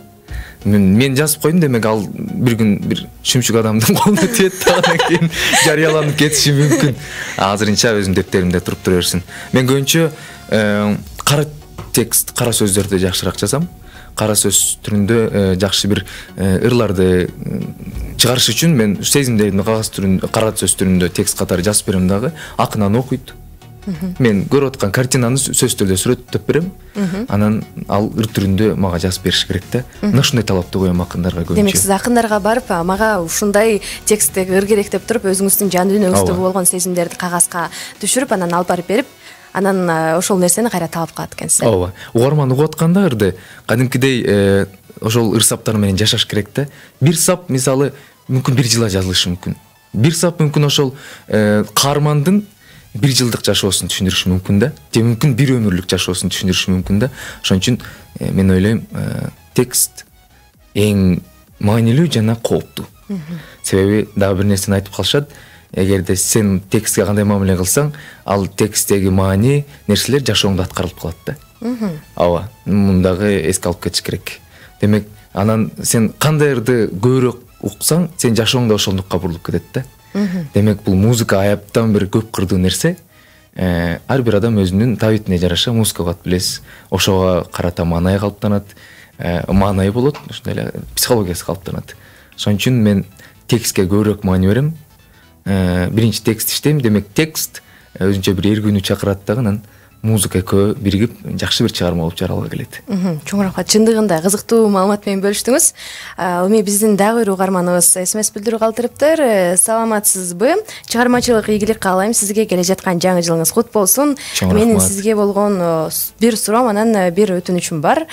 Мен мен жазып койдум, демек ал бир күн бир шүмшүк адамдын колуна тиет да, анан кийин жарыяланып кетиши мүмкүн. Азырынча өзүм дептеримде туруп тура берсин. Мен көбүнчө кара текст, кара сөздөрдү жакшыраак жазам. Кара сөз түрүндө жакшы бир ырларды чыгарыш үчүн мен сезимдеримди кагаз түрүндө, кара сөз түрүндө текст катары жазып берем дагы. Акын аны окуйт. Мен көрүп аткан картинаны сөз түрдө сүрөттөп берем. Анан ал ыр түрүндө мага жазып бериш керек да. Мына ушундай талапты коем акындарга көбүнчө. Демек, сиз акындарга барып, мага ушундай тексттеги ыр керек деп туруп, өзүңүздүн жан дүйнөңүздө болгон сезимдерди кагазга түшүрүп, анан алып барып берип, анан ошол нерсени кайра таап калат экенсиз. Ооба. Угарман угуп атканда ырды кадимкидей ошол ыр саптар менен жашаш керек да. Бир сап мисалы мүмкүн бир жылга жазылышы мүмкүн. Бир сап мүмкүн ошол каармандын бир жылдык жашоосун түшүндүрүшү мүмкүн да. Же мүмкүн бир өмүрлүк жашоосун түшүндүрүшү мүмкүн да. Ошон үчүн мен ойлойм, текст эң маанилүү жана кооптуу. Себеби дагы бир нерсени айтып калышат. Эгерде сен текстке кандай мамиле кылсаң, ал тексттеги маани нерселер жашооңдо аткарылып калат да. Ооба, мундагы эске алып кетиш керек. Демек, анан сен кандай ырды көбүрөөк уксаң, сен жашооңдо ошондукка бурулуп кетет да. Демек, бул музыка аяптан бир көп кырдуу нерсе. Ар бир адам өзүнүн табитине жараша музыка угат, билесиз. Ошого карата маанай калыптанат, маанай болот, ошондой эле психологиясы калыптанат. Ошон үчүн мен текстке көбүрөөк маани берем. Биринчи текст иштейм, демек текст өзүнчө бир эргүүнү чакырат дагы, анан музыка экөө биригип жакшы бир чыгарма болуп жаралга келет. Чоң рахмат, чындыгында кызыктуу маалымат менен бөлүштүңүз. Эми биздин дагы бир угарманыбыз смс билдирүү калтырыптыр. Саламатсызбы? Чыгармачылык ийгилик каалайм. Сизге келе жаткан жаңы жылыңыз кут болсун. Менин сизге болгон бир суроом, анан бир өтүнүчүм бар.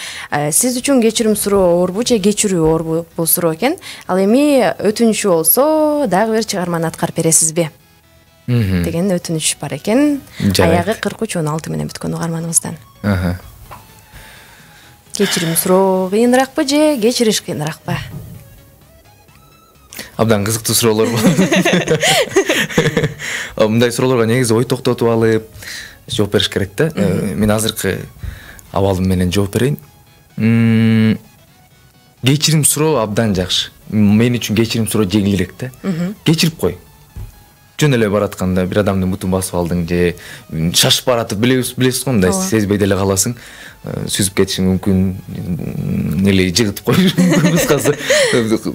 Сиз үчүн кечирим суроо оорбу же кечирүү оорбу бул суроо экен. Ал эми өтүнүчү болсо дагы бир чыгарманы аткарып бересизби деген өтүнүч бар экен. Аягы кырк үч он алты менен бүткөн угарманыбыздан. Кечирим суроо кыйыныракпы же кечириш кыйыныракпы? Абдан кызыктуу суроолор болду. Мындай суроолорго негизи ой токтотуп алып жооп бериш керек да. Мен азыркы абалым менен жооп берейин. Кечирим суроо абдан жакшы. Мен үчүн кечирим суроо жеңилирээк да. Кечирип кой. Жөн эле баратканда бир адамдын бутун басып алдың же шашып баратып, билесиз го, мындай сезбей деле каласың, сүзүп кетишиң мүмкүн, эле жыгытып коюш мүмкүн, кыскасы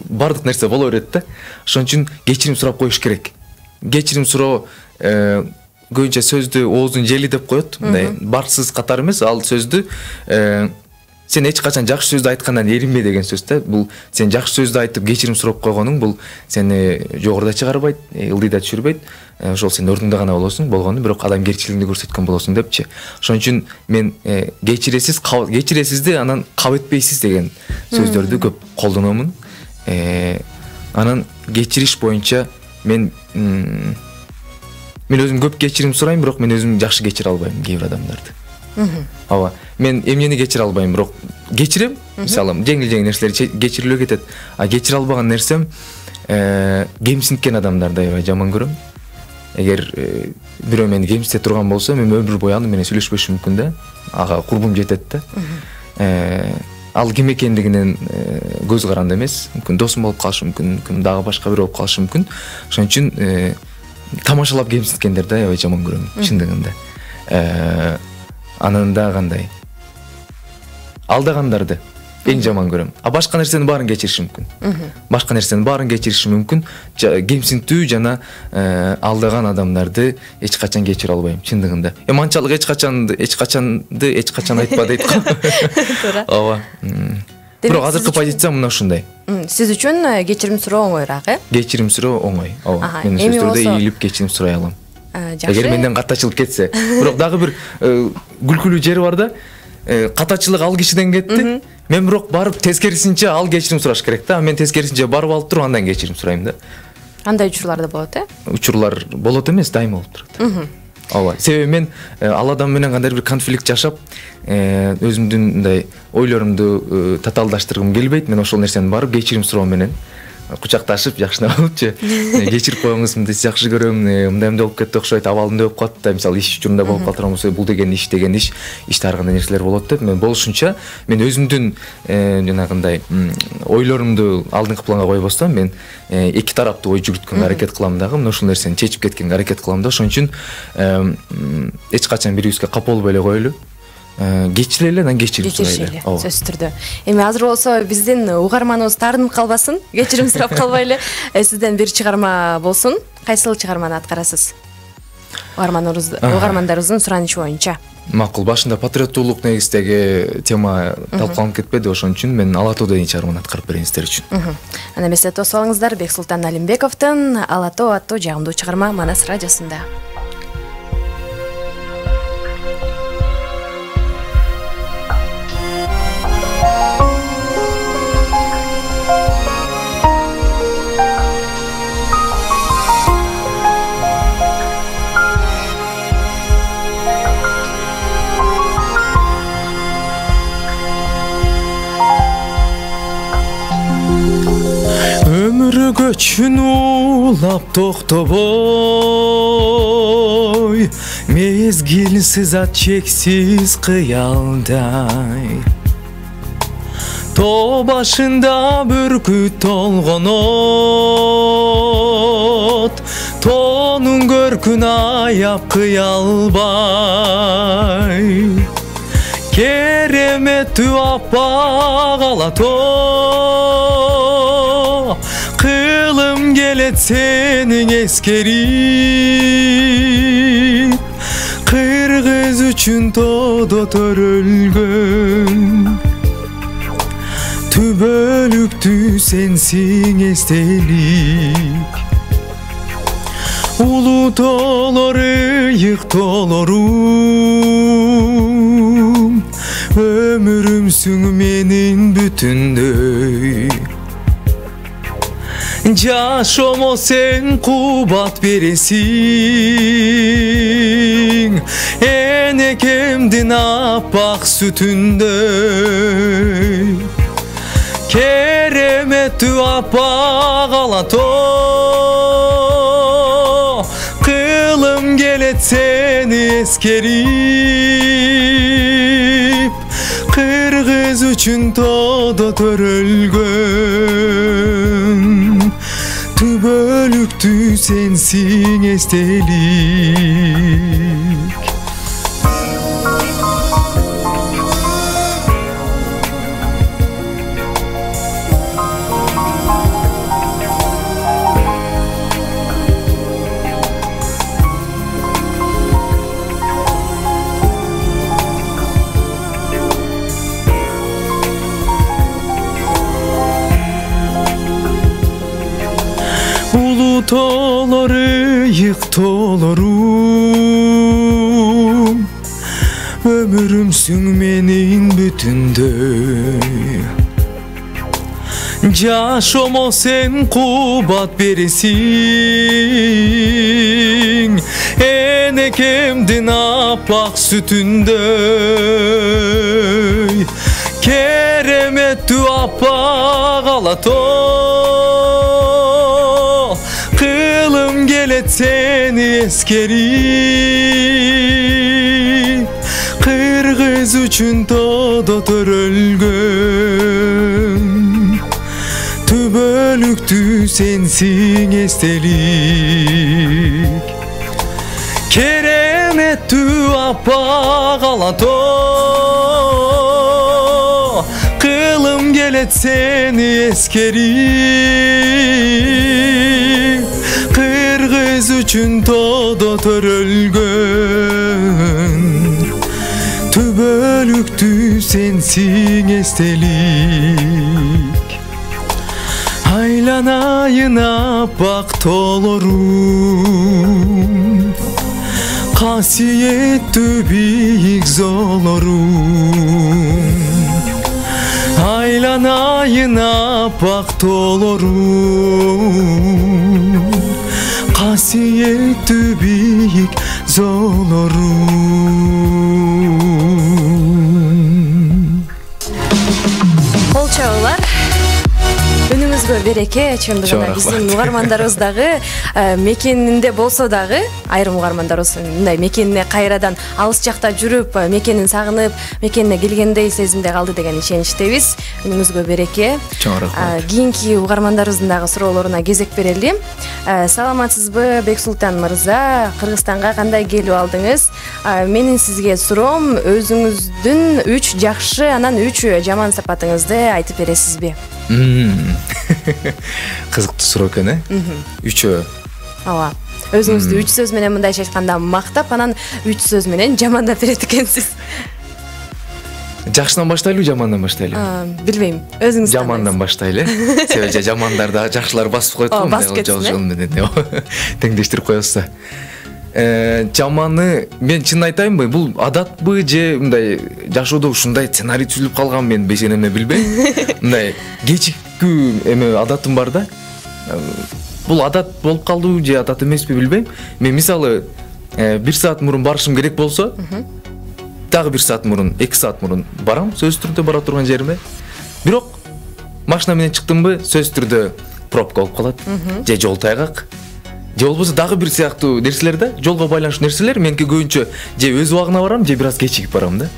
бардык нерсе боло берет да. Ошон үчүн кечирим сурап коюш керек. Кечирим суроо көбүнчө сөздү ооздун жели деп коет, мындай барсыз катар эмес, ал сөздү сен эч качан жакшы сөздү айткандан эринбе деген сөз да. Бул сен жакшы сөздү айтып кечирим сурап койгонуң бул сени жогоруда чыгарбайт, ылдыйда түшүрбөйт. Ошол сен ордуңда гана болосуң, болгону бирок адамгерчилигиңди көрсөткөн болосуң депчи. Ошон үчүн мен кечиресиз, кечиресизди анан кабыл этпейсиз деген сөздөрдү көп колдономун. Анан кечириш боюнча мен мен өзүм көп кечирим сурайм, бирок мен өзүм жакшы кечире албайм кээ бир адамдарды. Ооба. Мен эмнени кечире албайм, бирок кечирем. Мисалы, жеңил-жеңил нерселер кечирилип кетет. А кечире албаган нерсем кемсинткен адамдарды аябай жаман көрөм. Эгер бирөө мени кемсите турган болсо, мен өмүр бою аны менен сүйлөшпөшүм мүмкүн да. Ага курбум жетет да. Ал ким экендигинен көз каранды эмес. Мүмкүн досум болуп калышы мүмкүн, мүмкүн дагы башка бирөө болуп калышы мүмкүн. Ошон үчүн тамашалап кемсинткендерди аябай жаман көрөм, чындыгында. Анан да кандай? Алдагандарды эң жаман көрөм. А башка нерсенин баарын кечиришим мүмкүн. Башка нерсенин баарын кечиришим мүмкүн. Кемсинтүү жана алдаган адамдарды эч качан кечире албайм, чындыгында. Эми анчалык эч качанды, эч качанды эч качан айтпа дейт го. Ооба. Бирок азыркы позициям мына ушундай. Сиз үчүн кечирим суроо оңоюраак, э? Кечирим суроо оңой. Ооба. Мен сөздөрдө ийилип кечирим сурай алам. Эгер менден катачылык кетсе, бирок дагы бир күлкүлүү жери бар да. Катачылык ал кишиден кетти. Мен бирок барып тескерисинче ал кечирим сураш керек да. Мен тескерисинче барып алып туруп андан кечирим сурайм да. Андай учурлар да болот, э? Учурлар болот эмес, дайыма болуп турат. Ооба. Себеби мен ал адам менен кандайдыр бир конфликт жашап, өзүмдүн мындай ойлорумду татаалдаштыргым келбейт. Мен ошол нерсени барып кечирим суроо менен кучакташып жакшына болупчу. Кечирип коюңуз, мындай жакшы көрөм, мындай эмне болуп кетти окшойт, абалымда болуп калат да, мисалы иш учурунда болуп калат болсо, бул деген иш деген иш, иште ар кандай нерселер болот деп, мен болушунча мен өзүмдүн жанагындай ойлорумду алдыңкы планга койбостон, мен эки тараптуу ой жүгүрткөнгө аракет кылам дагы, мына ушул нерсени чечип кеткенге аракет кылам да. Ошон үчүн эч качан бирибизге капа болбой эле коелу. Кечире эле, анан кечирим сурайлы. Сөзсүз түрдө. Эми азыр болсо биздин угарманыбыз таарынып калбасын, кечирим сурап калбайлы. Сизден бир чыгарма болсун. Кайсыл чыгарманы аткарасыз? Угармандарыбыздын суранышы боюнча. Макул, башында патриоттуулук негиздеги тема талкууланып кетпеди, ошон үчүн мен Ала тоо деген чыгарманы аткарып берейин сиздер үчүн. Ана эмесе тосуп алыңыздар, Бексултан Алимбековдун Ала тоо аттуу жагымдуу чыгарма Манас радиосунда. Өмүр көчүн улап токтобой, мезгил сызат чексиз кыялдай. Тоо башында бүркүт толгонот, тоонун көркүн аяп кыя албай. Кереметтүү аппак ала тоо, кылым келет сенин эскерип, кыргыз үчүн тоодо төрөлгөн. Түбөлүктүү сенсиң эстелик, улуу тоолор ыйык тоолорум, өмүрүмсүң менин бүтүндөй. Жашомо сен кубат бересиң, энекемдин аппак сүтүндөй. Кереметтүү аппак ала тоо, кылым келет сени эскерип, кыргыз үчүн тоодо төрөлгөн. Түбөлүктүү сенсиң эстелик. тоолор ыйык тоолорум өмүрүмсүң менин бүтүндөй жашомо сен кубат бересиң энекемдин апак сүтүндөй кереметтүү аппак алатоо кылым келет сени эскерип кыргыз үчүн тоодо төрөлгөн түбөлүктүү сенсиң эстелик кереметтүү аппак алатоо кылым келет сени эскерип кыргыз үчүн тоодо төрөлгөн түбөлүктүү сенсиң эстелик айланайын аппак тоолорум касиеттүү бийик зоолорум айланайын аппак тоолорум касиеттүү бийик зоолорум. Кол чабуулар. Үнүңүзгө береке, чындыгында биздин угармандарыбыз дагы мекенинде болсо дагы айрым угармандарыбыз мындай мекенине кайрадан алыс жакта жүрүп, мекенин сагынып, мекенине келгендей сезимде калды деген ишеничтебиз. Үнүңүзгө береке. Чоң рахмат. Кийинки угармандарыбыздын дагы суроолоруна кезек берели. Саламатсызбы Бексултан мырза? Кыргызстанга кандай келип алдыңыз? Менин сизге суроом, өзүңүздүн үч жакшы, анан үч жаман сапатыңызды айтып бересизби? Кызыктуу суроо экен, э? Үчөө. Ооба. Өзүңүздү үч сөз менен мындайча айтканда мактап, анан үч сөз менен жамандап берет экенсиз. Жакшыдан баштайлыбы, жамандан баштайлыбы? Билбейм. Өзүңүз жамандан баштайлы. Себеби жамандарда жакшылар басып коет го, мындай жол менен теңдештирип коебуз да. Жаманы мен чын айтайынбы, бул адатпы же мындай жашоодо ушундай сценарий түзүлүп калган, мен бешенеме билбейм. Мындай кечиккүү эме адатым бар да. Бул адат болуп калдыбы же адат эмеспи билбейм. Мен мисалы бир саат мурун барышым керек болсо, дагы бир саат мурун, эки саат мурун барам, сөзсүз түрдө бара турган жериме. Бирок машина менен чыктымбы, сөзсүз түрдө пробка болуп калат, же жол тайгак. Же болбосо дагы бир сыяктуу нерселер да, жолго байланыштуу нерселер. Меники көбүнчө же өз убагына барам, же бир аз кечигип барам да.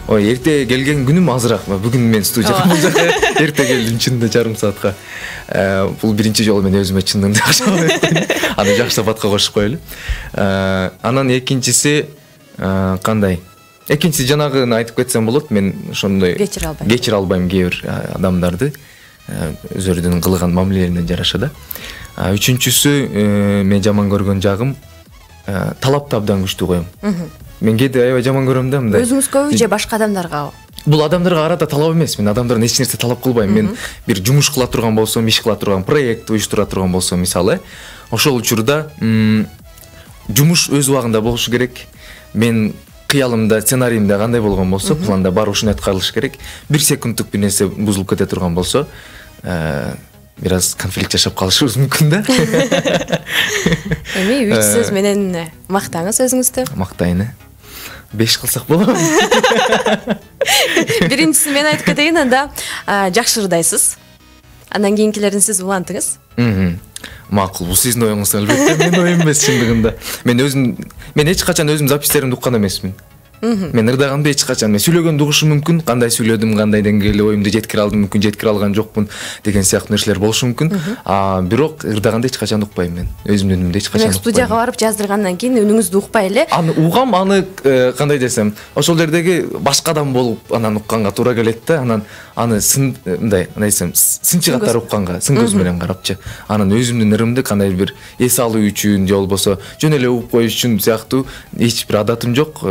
Ой, эрте келген күнүм азыраак. Бүгүн мен студияга бул жака эрте келдим, чынында жарым саатка. Бул биринчи жолу мен өзүмө чындыгында жакшы. Аны жакшы сапатка кошуп коелу. Анан экинчиси кандай? Экинчиси жанагыны айтып кетсем болот. Мен ошондой кечире албайм. Кечире албайм кээ бир адамдарды. Өзөрүнүн кылган мамилелерине жараша да. Үчүнчүсү, мен жаман көргөн жагым талапты абдан күчтүү коем. Мен кээде аябай жаман көрөм да, мындай. Өзүңүзгө же башка адамдарга? Бул адамдарга карата талап эмес. Мен адамдардан эч нерсе талап кылбайм. Мен бир жумуш кыла турган болсом, иш кыла турган, проект уюштура турган болсом, мисалы, ошол учурда жумуш өз убагында болушу керек. Мен кыялымда, сценариимде кандай болгон болсо, планда баары ушуну аткарылыш керек. Бир секундтук бир нерсе бузулуп кете турган болсо, бир аз конфликт жашап калышыбыз мүмкүн да. Эми үч сөз менен мактаңыз өзүңүздү. Мактайын, э? беш кылсак болобу? Биринчиси мен айтып кетейин, анда жакшырдайсыз. Андан кийинкилерин сиз улантыңыз. Макул, бул сиздин оюңуз албетте, менин оюм эмес чындыгында. Мен өзүм, мен эч качан өзүм записьтеримди уккан эмесмин. Мен ырдаганда эч качан, мен сүйлөгөндү угушум мүмкүн, кандай сүйлөдүм, кандай деңгээлде оюмду жеткире алдым, мүмкүн жеткире алган жокмун деген сыяктуу нерселер болушу мүмкүн. А бирок ырдаганда эч качан укпайм мен. Өзүмдүн үнүмдү эч качан укпайм. Студияга барып жаздыргандан кийин үнүңүздү укпай эле? Аны угам, аны кандай десем, ошол жердеги башка адам болуп анан укканга туура келет да. Анан аны сын мындай, кандай десем, сынчы катары укканга, сын көз менен карапчы. Анан өзүмдүн ырымды кандай бир эс алуу үчүн же болбосо жөн эле угуп коюш үчүн сыяктуу эч бир адатым жок.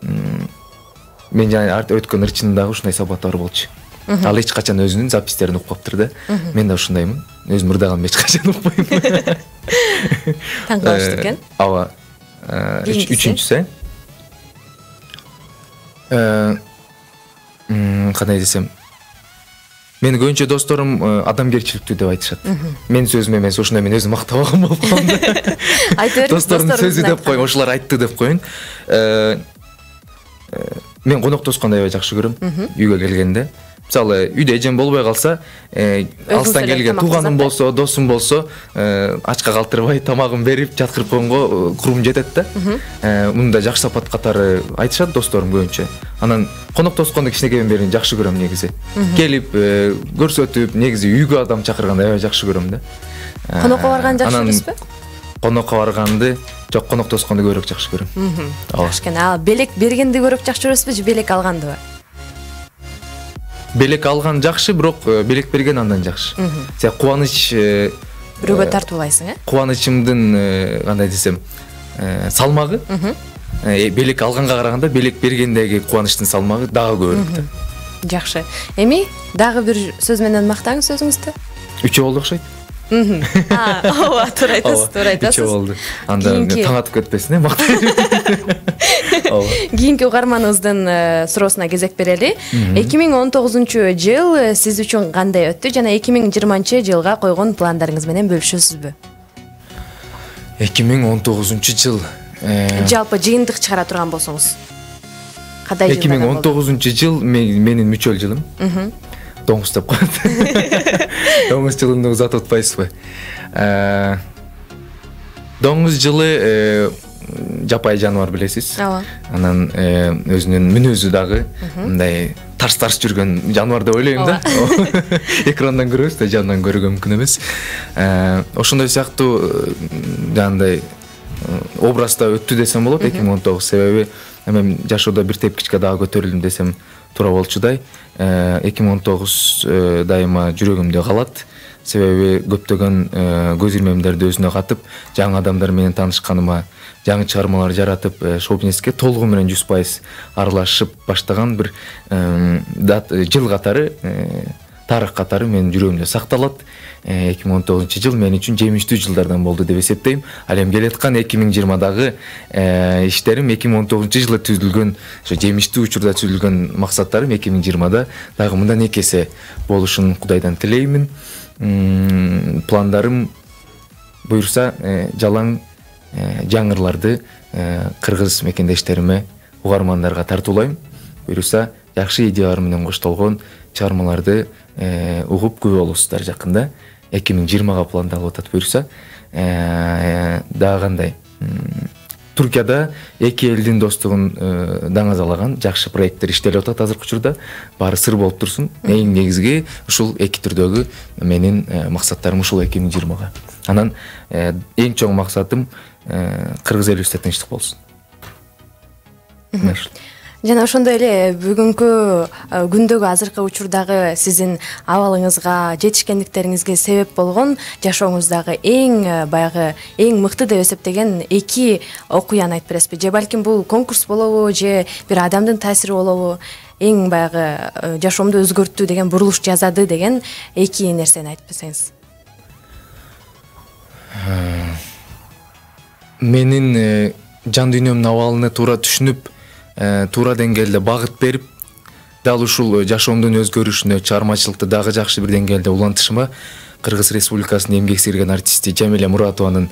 Мен жана өткөн ырчымдагы ушундай сапаттар болчу. ал эч качан өзүнүн запистерин укпаптыр да. Мен да ушундаймын. Өзүм ырдаган эч качан укпайм. Таң калыштуу экен. Ооба. Үчүнчүсү э кандай десем, менин көбүнчө досторум адамгерчиликтүү деп айтышат. Менин сөзүм эмес, ушундай мен өзүм мактабаган болуп калдым. Айта бериңиз, достордун сөзү деп коеюн, ошолор айтты деп коеюн. Мен конок тосконду аябай жакшы көрөм. Үйгө келгенде, мисалы, үйдө эжем болбой калса, алыстан келген тууганым болсо, досум болсо, ачка калтырбай тамагын берип, жаткырып койгонго курбум жетет да. Муну да жакшы сапат катары айтышат досторум көбүнчө. Анан конок тосконду кичинекейден бери жакшы көрөм негизи. Келип, көрсөтүп, негизи үйгө адам чакырганды аябай жакшы көрөм да. Конокко барганды жакшы көрөсүзбү? Конокко барганды, жок, конок тосконду көбүрөөк жакшы көрөм. Жакшы экен. А белек бергенди көбүрөөк жакшы көрөсүзбү же белек алгандыбы? Белек алган жакшы, бирок белек берген андан жакшы. Сен кубаныч бирөөгө тартуулайсың, э? Кубанычымдын кандай десем, салмагы белек алганга караганда белек бергендеги кубанычтын салмагы дагы көбүрөөк да. Жакшы. Эми дагы бир сөз менен мактаңыз өзүңүздү. Үчөө болду окшойт. Ооба, туура айтасыз, туура айтасыз. Үчөө болду. Анда таң атып кетпесин, э, мактайм. Кийинки угарманыбыздын суроосуна кезек берели. эки миң он тогузунчу жыл сиз үчүн кандай өттү жана эки миң жыйырманчы жылга койгон пландарыңыз менен бөлүшөсүзбү? эки миң он тогузунчу жыл жалпы жыйынтык чыгара турган болсоңуз кандай жыл? эки миң он тогузунчу жыл менин мүчөл жылым. Доңуз деп коет. Доңуз жылында узатып атпайсызбы? Доңуз жылы жапай жаныбар, билесиз. Ооба. Анан өзүнүн мүнөзү дагы мындай тарс-тарс жүргөн жаныбар деп ойлойм да. Экрандан көрөбүз да, жанынан көргөн мүмкүн эмес. Ошондой сыяктуу жандай образда өттү десем болот эки миң он тогуз, себеби мен жашоодо бир тепкичке дагы көтөрүлдүм десем туура болчудай. эки миң он тогуз дайыма жүрөгүмдө калат. Себеби көптөгөн көз ирмемдерди өзүнө катып, жаңы адамдар менен таанышканыма, жаңы чыгармалар жаратып, шоу-бизнеске толугу менен жүз пайыз аралашып баштаган бир жыл катары, тарых катары менин жүрөгүмдө сакталат. эки миң он тогузунчу жыл мен үчүн жемиштүү жылдардан болду деп эсептейм. Ал эми келаткан эки миң жыйырмадагы иштерим эки миң он тогузунчу жылы түзүлгөн, ошо жемиштүү учурда түзүлгөн максаттарым эки миң жыйырмада дагы мындан эки эсе болушун Кудайдан тилеймин. Пландарым буюрса жалаң жаңырларды кыргыз мекендештериме, угармандарга тартуулайм. Буюрса жакшы идеялар менен коштолгон чыгармаларды угуп күбө болосуздар жакында. эки миң жыйырмага пландалып атат буюрса. Дагы кандай? Туркияда эки элдин достугун даңазалаган жакшы проекттер иштелип атат азыркы учурда. Баары сыр болуп турсун. Эң негизги ушул эки түрдөгү менин максаттарым ушул эки миң жыйырмага. Анан эң чоң максатым кыргыз элибизде тынчтык болсун. Жана ошондой эле бүгүнкү күндөгү азыркы учурдагы сиздин абалыңызга, жетишкендиктериңизге себеп болгон жашооңуздагы эң баягы эң мыкты деп эсептеген эки окуяны айтып бересизби? Же балким бул конкурс болобу, же бир адамдын таасири болобу? Эң баягы жашоомду өзгөрттү деген, бурулуш жасады деген эки нерсени айтып берсеңиз. Менин жан дүйнөмдүн абалына туура түшүнүп, туура деңгээлде багыт берип, дал ушул жашоомдун өзгөрүшүнө, чыгармачылыкты дагы жакшы бир деңгээлде улантышыма Кыргыз Республикасынын эмгек сиңирген артисти Жамиля Муратованын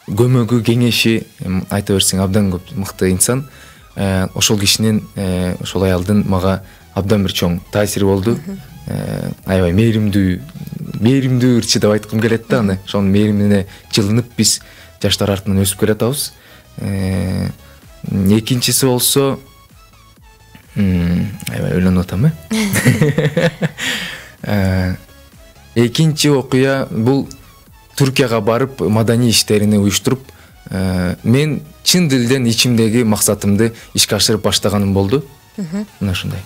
көмөгү, кеңеши, айта берсең абдан көп мыкты инсан. Ошол кишинин, ошол аялдын мага абдан бир чоң таасири болду. Аябай мээримдүү, мээримдүү ырчы деп айткым келет да, аны. Ошонун мээримине жылынып биз жаштар артынан өсүп келатабыз. Экинчиси болсо, аябай ойлонуп атам, э? Экинчи окуя бул Түркияга барып маданий иштерини уюштуруп, мен чын дилден ичимдеги максатымды ишке ашырып баштаганым болду. Мына ушундай.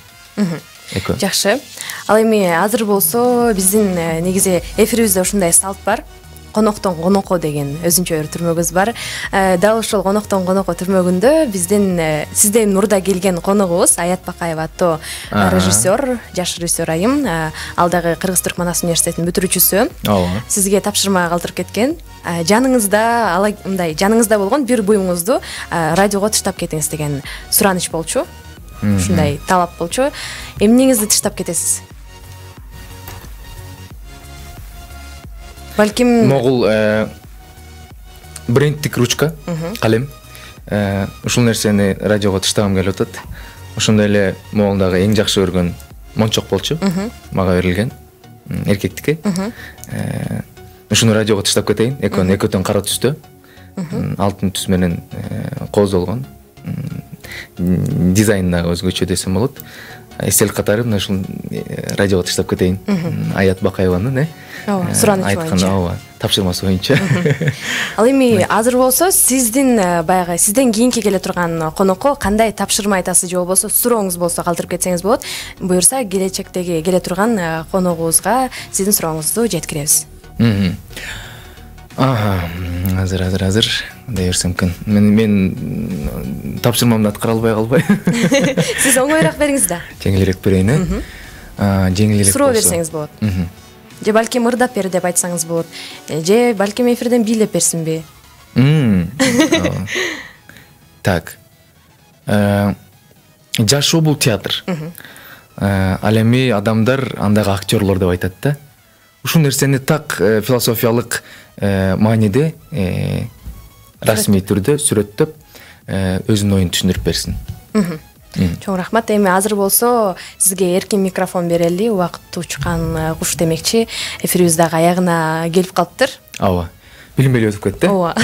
Жакшы. Ал эми азыр болсо биздин негизи эфирибизде ушундай салт бар. коноктон конокко деген өзүнчө бир түрмөгүбүз бар. Дал ушул коноктон конокко түрмөгүндө биздин сизден мурда келген коногубуз Аят Бакаева аттуу режиссер, жаш режиссер айым. Ал дагы Кыргыз-Түркманас университетинин бүтүрүүчүсү. Ооба. Сизге тапшырма калтырып кеткен. Жаныңызда ала мындай жаныңызда болгон бир буюңузду радиого тыштап кетиңиз деген сураныч болчу. Ушундай талап болчу. Эмнеңизди тыштап кетесиз? Балким могул брендтик ручка, калем. Ушул нерсени радиого тыштагым келип атат. Ошондой эле могул дагы эң жакшы көргөн мончок болчу. Мага берилген. Эркектики. Ушуну радиого тыштап кетейин. Экөөнү экөөтөн кара түстө. Алтын түс менен кооздолгон. Дизайн дагы өзгөчө десем болот. Эстелик катары мына ушул радиого тыштап кетейин. Аят Бакаеванын, э? Ооба, сураныч боюнча. Ооба, тапшырмасы боюнча. Ал эми азыр болсо сиздин баягы сизден кийинки келе турган конокко кандай тапшырма айтасыз же болбосо сурооңуз болсо калтырып кетсеңиз болот. Буюрса келечектеги келе турган коногубузга сиздин сурооңузду жеткиребиз. Ага, азыр азыр азыр дей берсем экен. Мен мен тапшырмамды аткара албай калбай. Сиз оңоюраак бериңиз да. Жеңилирээк берейин, э? А, жеңилирээк болсо. Суроо берсеңиз болот. Же балким ырдап бер деп айтсаңыз болот. Же балким эфирден бийлеп берсинби? Так. Жашоо бул театр. Ал эми адамдар андагы актерлор деп айтат да. Ушул нерсени так философиялык мааниде расмий түрдө сүрөттөп өзүнүн оюн түшүндүрүп берсин. Чоң рахмат. Эми азыр болсо сизге эркин микрофон берели. Убакыт учкан куш демекчи. Эфирибиз дагы аягына келип калыптыр. Ооба. Билинбей өтүп кетти. Ооба.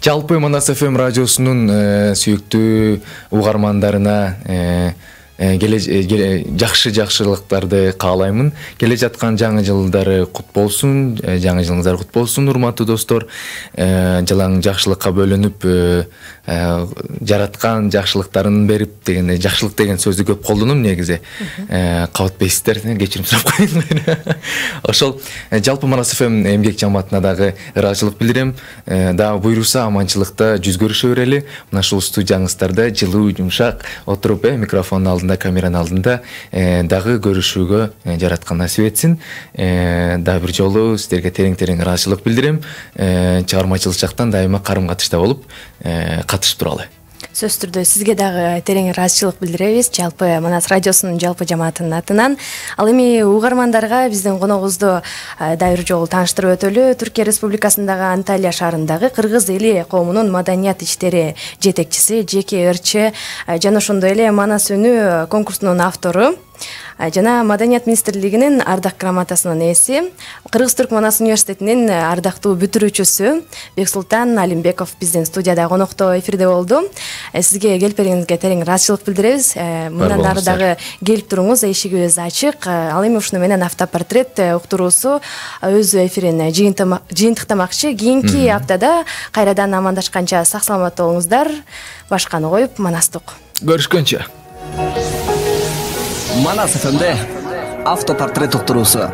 Жалпы Манас эф эм радиосунун сүйүктүү угармандарына жакшы жакшылыктарды каалаймын. Келе жаткан жаңы жылдары кут болсун, жаңы жылыңыздар кут болсун, урматтуу достор. Жылаң жакшылыкка бөлөнүп, жараткан жакшылыктарын берип деген жакшылык деген сөздү көп колдоном негизи. Кабатпайсыздар, кечирим сурап коеюн. Ошол жалпы Манас эф эм эмгек жамаатына дагы ыраазычылык билдирем. Дагы буйруса аманчылыкта жүз көрүшө берели. Мына ушул студияңыздарда жылуу, жумшак отуруп, микрофондун алдында, камеранын алдында дагы көрүшүүгө жараткан насип этсин. Дагы бир жолу сиздерге терең-терең ыраазычылык билдирем. Чыгармачылык жактан дайыма карым-катышта болуп катышып туралы. Сөз түрдө сизге дагы терең ыраазычылык билдиребиз жалпы Манас радиосунун жалпы жамаатынын атынан. Ал эми угармандарга биздин коногубузду дагы бир жолу тааныштырып өтөлү. Түркия Республикасындагы Анталия шаарындагы кыргыз эли коомунун маданият иштери жетекчиси, жеке ырчы жана ошондой эле Манас үнү конкурсунун автору жана Маданият министрлигинин ардак грамотасынын ээси, Кыргыз-Түркманас университетинин ардактуу бүтүрүүчүсү Бексултан Алимбеков биздин студияда конокто эфирде болду. Сизге келип бериңизге терең ыраазычылык билдиребиз. Мындан ары дагы келип туруңуз, эшигибиз ачык. Ал эми ушуну менен автопортрет уктуруусу өз эфирин жыйынтыктамакчы. Кийинки аптада кайрадан амандашканча сак саламат болуңуздар. Башканы коюп Манастык. Көрүшкөнчө. Манас эф эмде автопортрет уктуруусу.